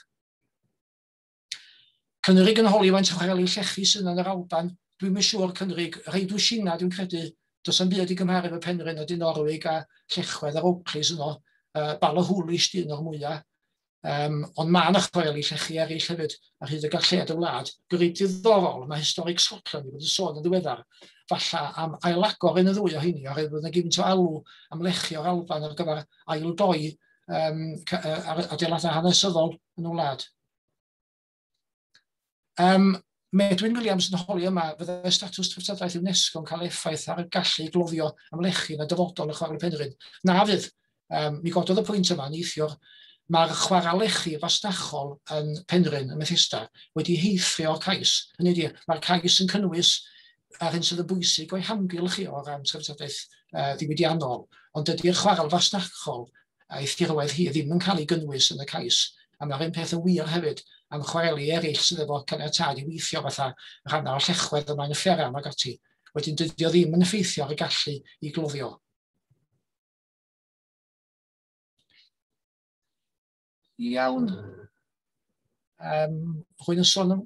Cynrig yn holi faint o chwareli llechi sydd yn yr Alban. Dwi'm yn siŵr Cynrig, rhai dwsina dwi'n credu, does am byd i gymharu efo Penrhyn a Dinorwig a Llechwedd a'r Oakleys yno, uh, Ballachulish di un o'r mwyaf. Um, ond mae yna chwareli llechi eraill hefyd ar hyd y galled y wlad. Gwryd diddorol, mae Historic Scotland wedi bod yn sôn yn ddiweddar, falle am ailagor un y ddwy o hynny, oherwydd bod yna gymaint o alw am lechi o'r Alban ar gyfer aildoi um, adeiladau hanesyddol yn y wlad. Um, Medwyn Williams yn holi yma, fyddai statws treftadaeth UNESCO yn cael effaith ar y gallu gloddio am lechi yn y dyfodol y Chwarel Penrhyn. Na fydd. Um, mi gododd y pwynt yma neithiwr. Mae'r chwarel lechi fasnachol yn Penrhyn, ym Methesda, wedi heithrio'r cais. Hynny ydi, mae'r cais yn cynnwys ar hyn sydd yn bwysig o'i hamgylch i o ran treftadaeth uh, ddiwydiannol, ond dydy'r chwarel fasnachol a'i thirwedd hi ddim yn cael ei gynnwys yn y cais. A mae'r un peth yn wir hefyd am chwareli eraill sydd efo caniatâd i weithio fatha rhannau o'r llechwedd yma yn y fferam ac ati. Wedyn dydy o ddim yn effeithio ar y gallu i gloddio. Iawn. Um, rwy'n yn sôn am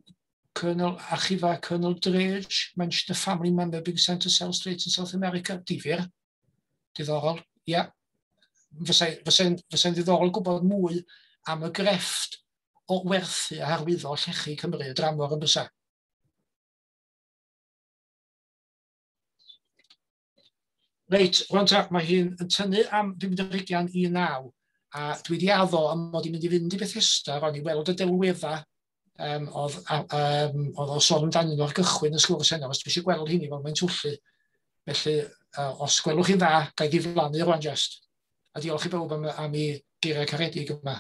Colonel Archifa Colonel Drage, mentioned a family member being sent to sell slates in South America. Difyr. Diddorol. Ia. Yeah. Fysa'n fysa fysa ddiddorol gwybod mwy am y grefft o werthu a harwyddo llechi Cymru dramor yn bysa. Reit, rwan ta, mae hi'n yn tynnu am bum ar hugain i naw. A dwi wedi addo am mod i'n mynd i fynd i Bethesda rwan i weld y delwedda um, oedd, um, oedd o sôn amdanyn nhw ar gychwyn y sgwrs heno, os dwi eisiau gweld hynny fel mae'n twllu. Felly, uh, os gwelwch chi'n dda, ga i ddiflannu rwan just. A diolch i bawb am, am ei geiriau caredig yma.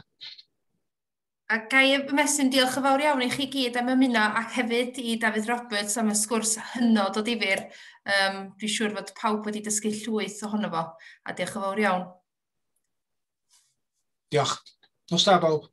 A ga i ymestyn diolch yn fawr iawn i chi gyd am ymuno ac hefyd i Dafydd Roberts am y sgwrs hynod o ddifyr. Um, dwi'n siŵr fod pawb wedi dysgu llwyth ohono fo, a diolch yn fawr iawn. Diolch. Nos da, bawb.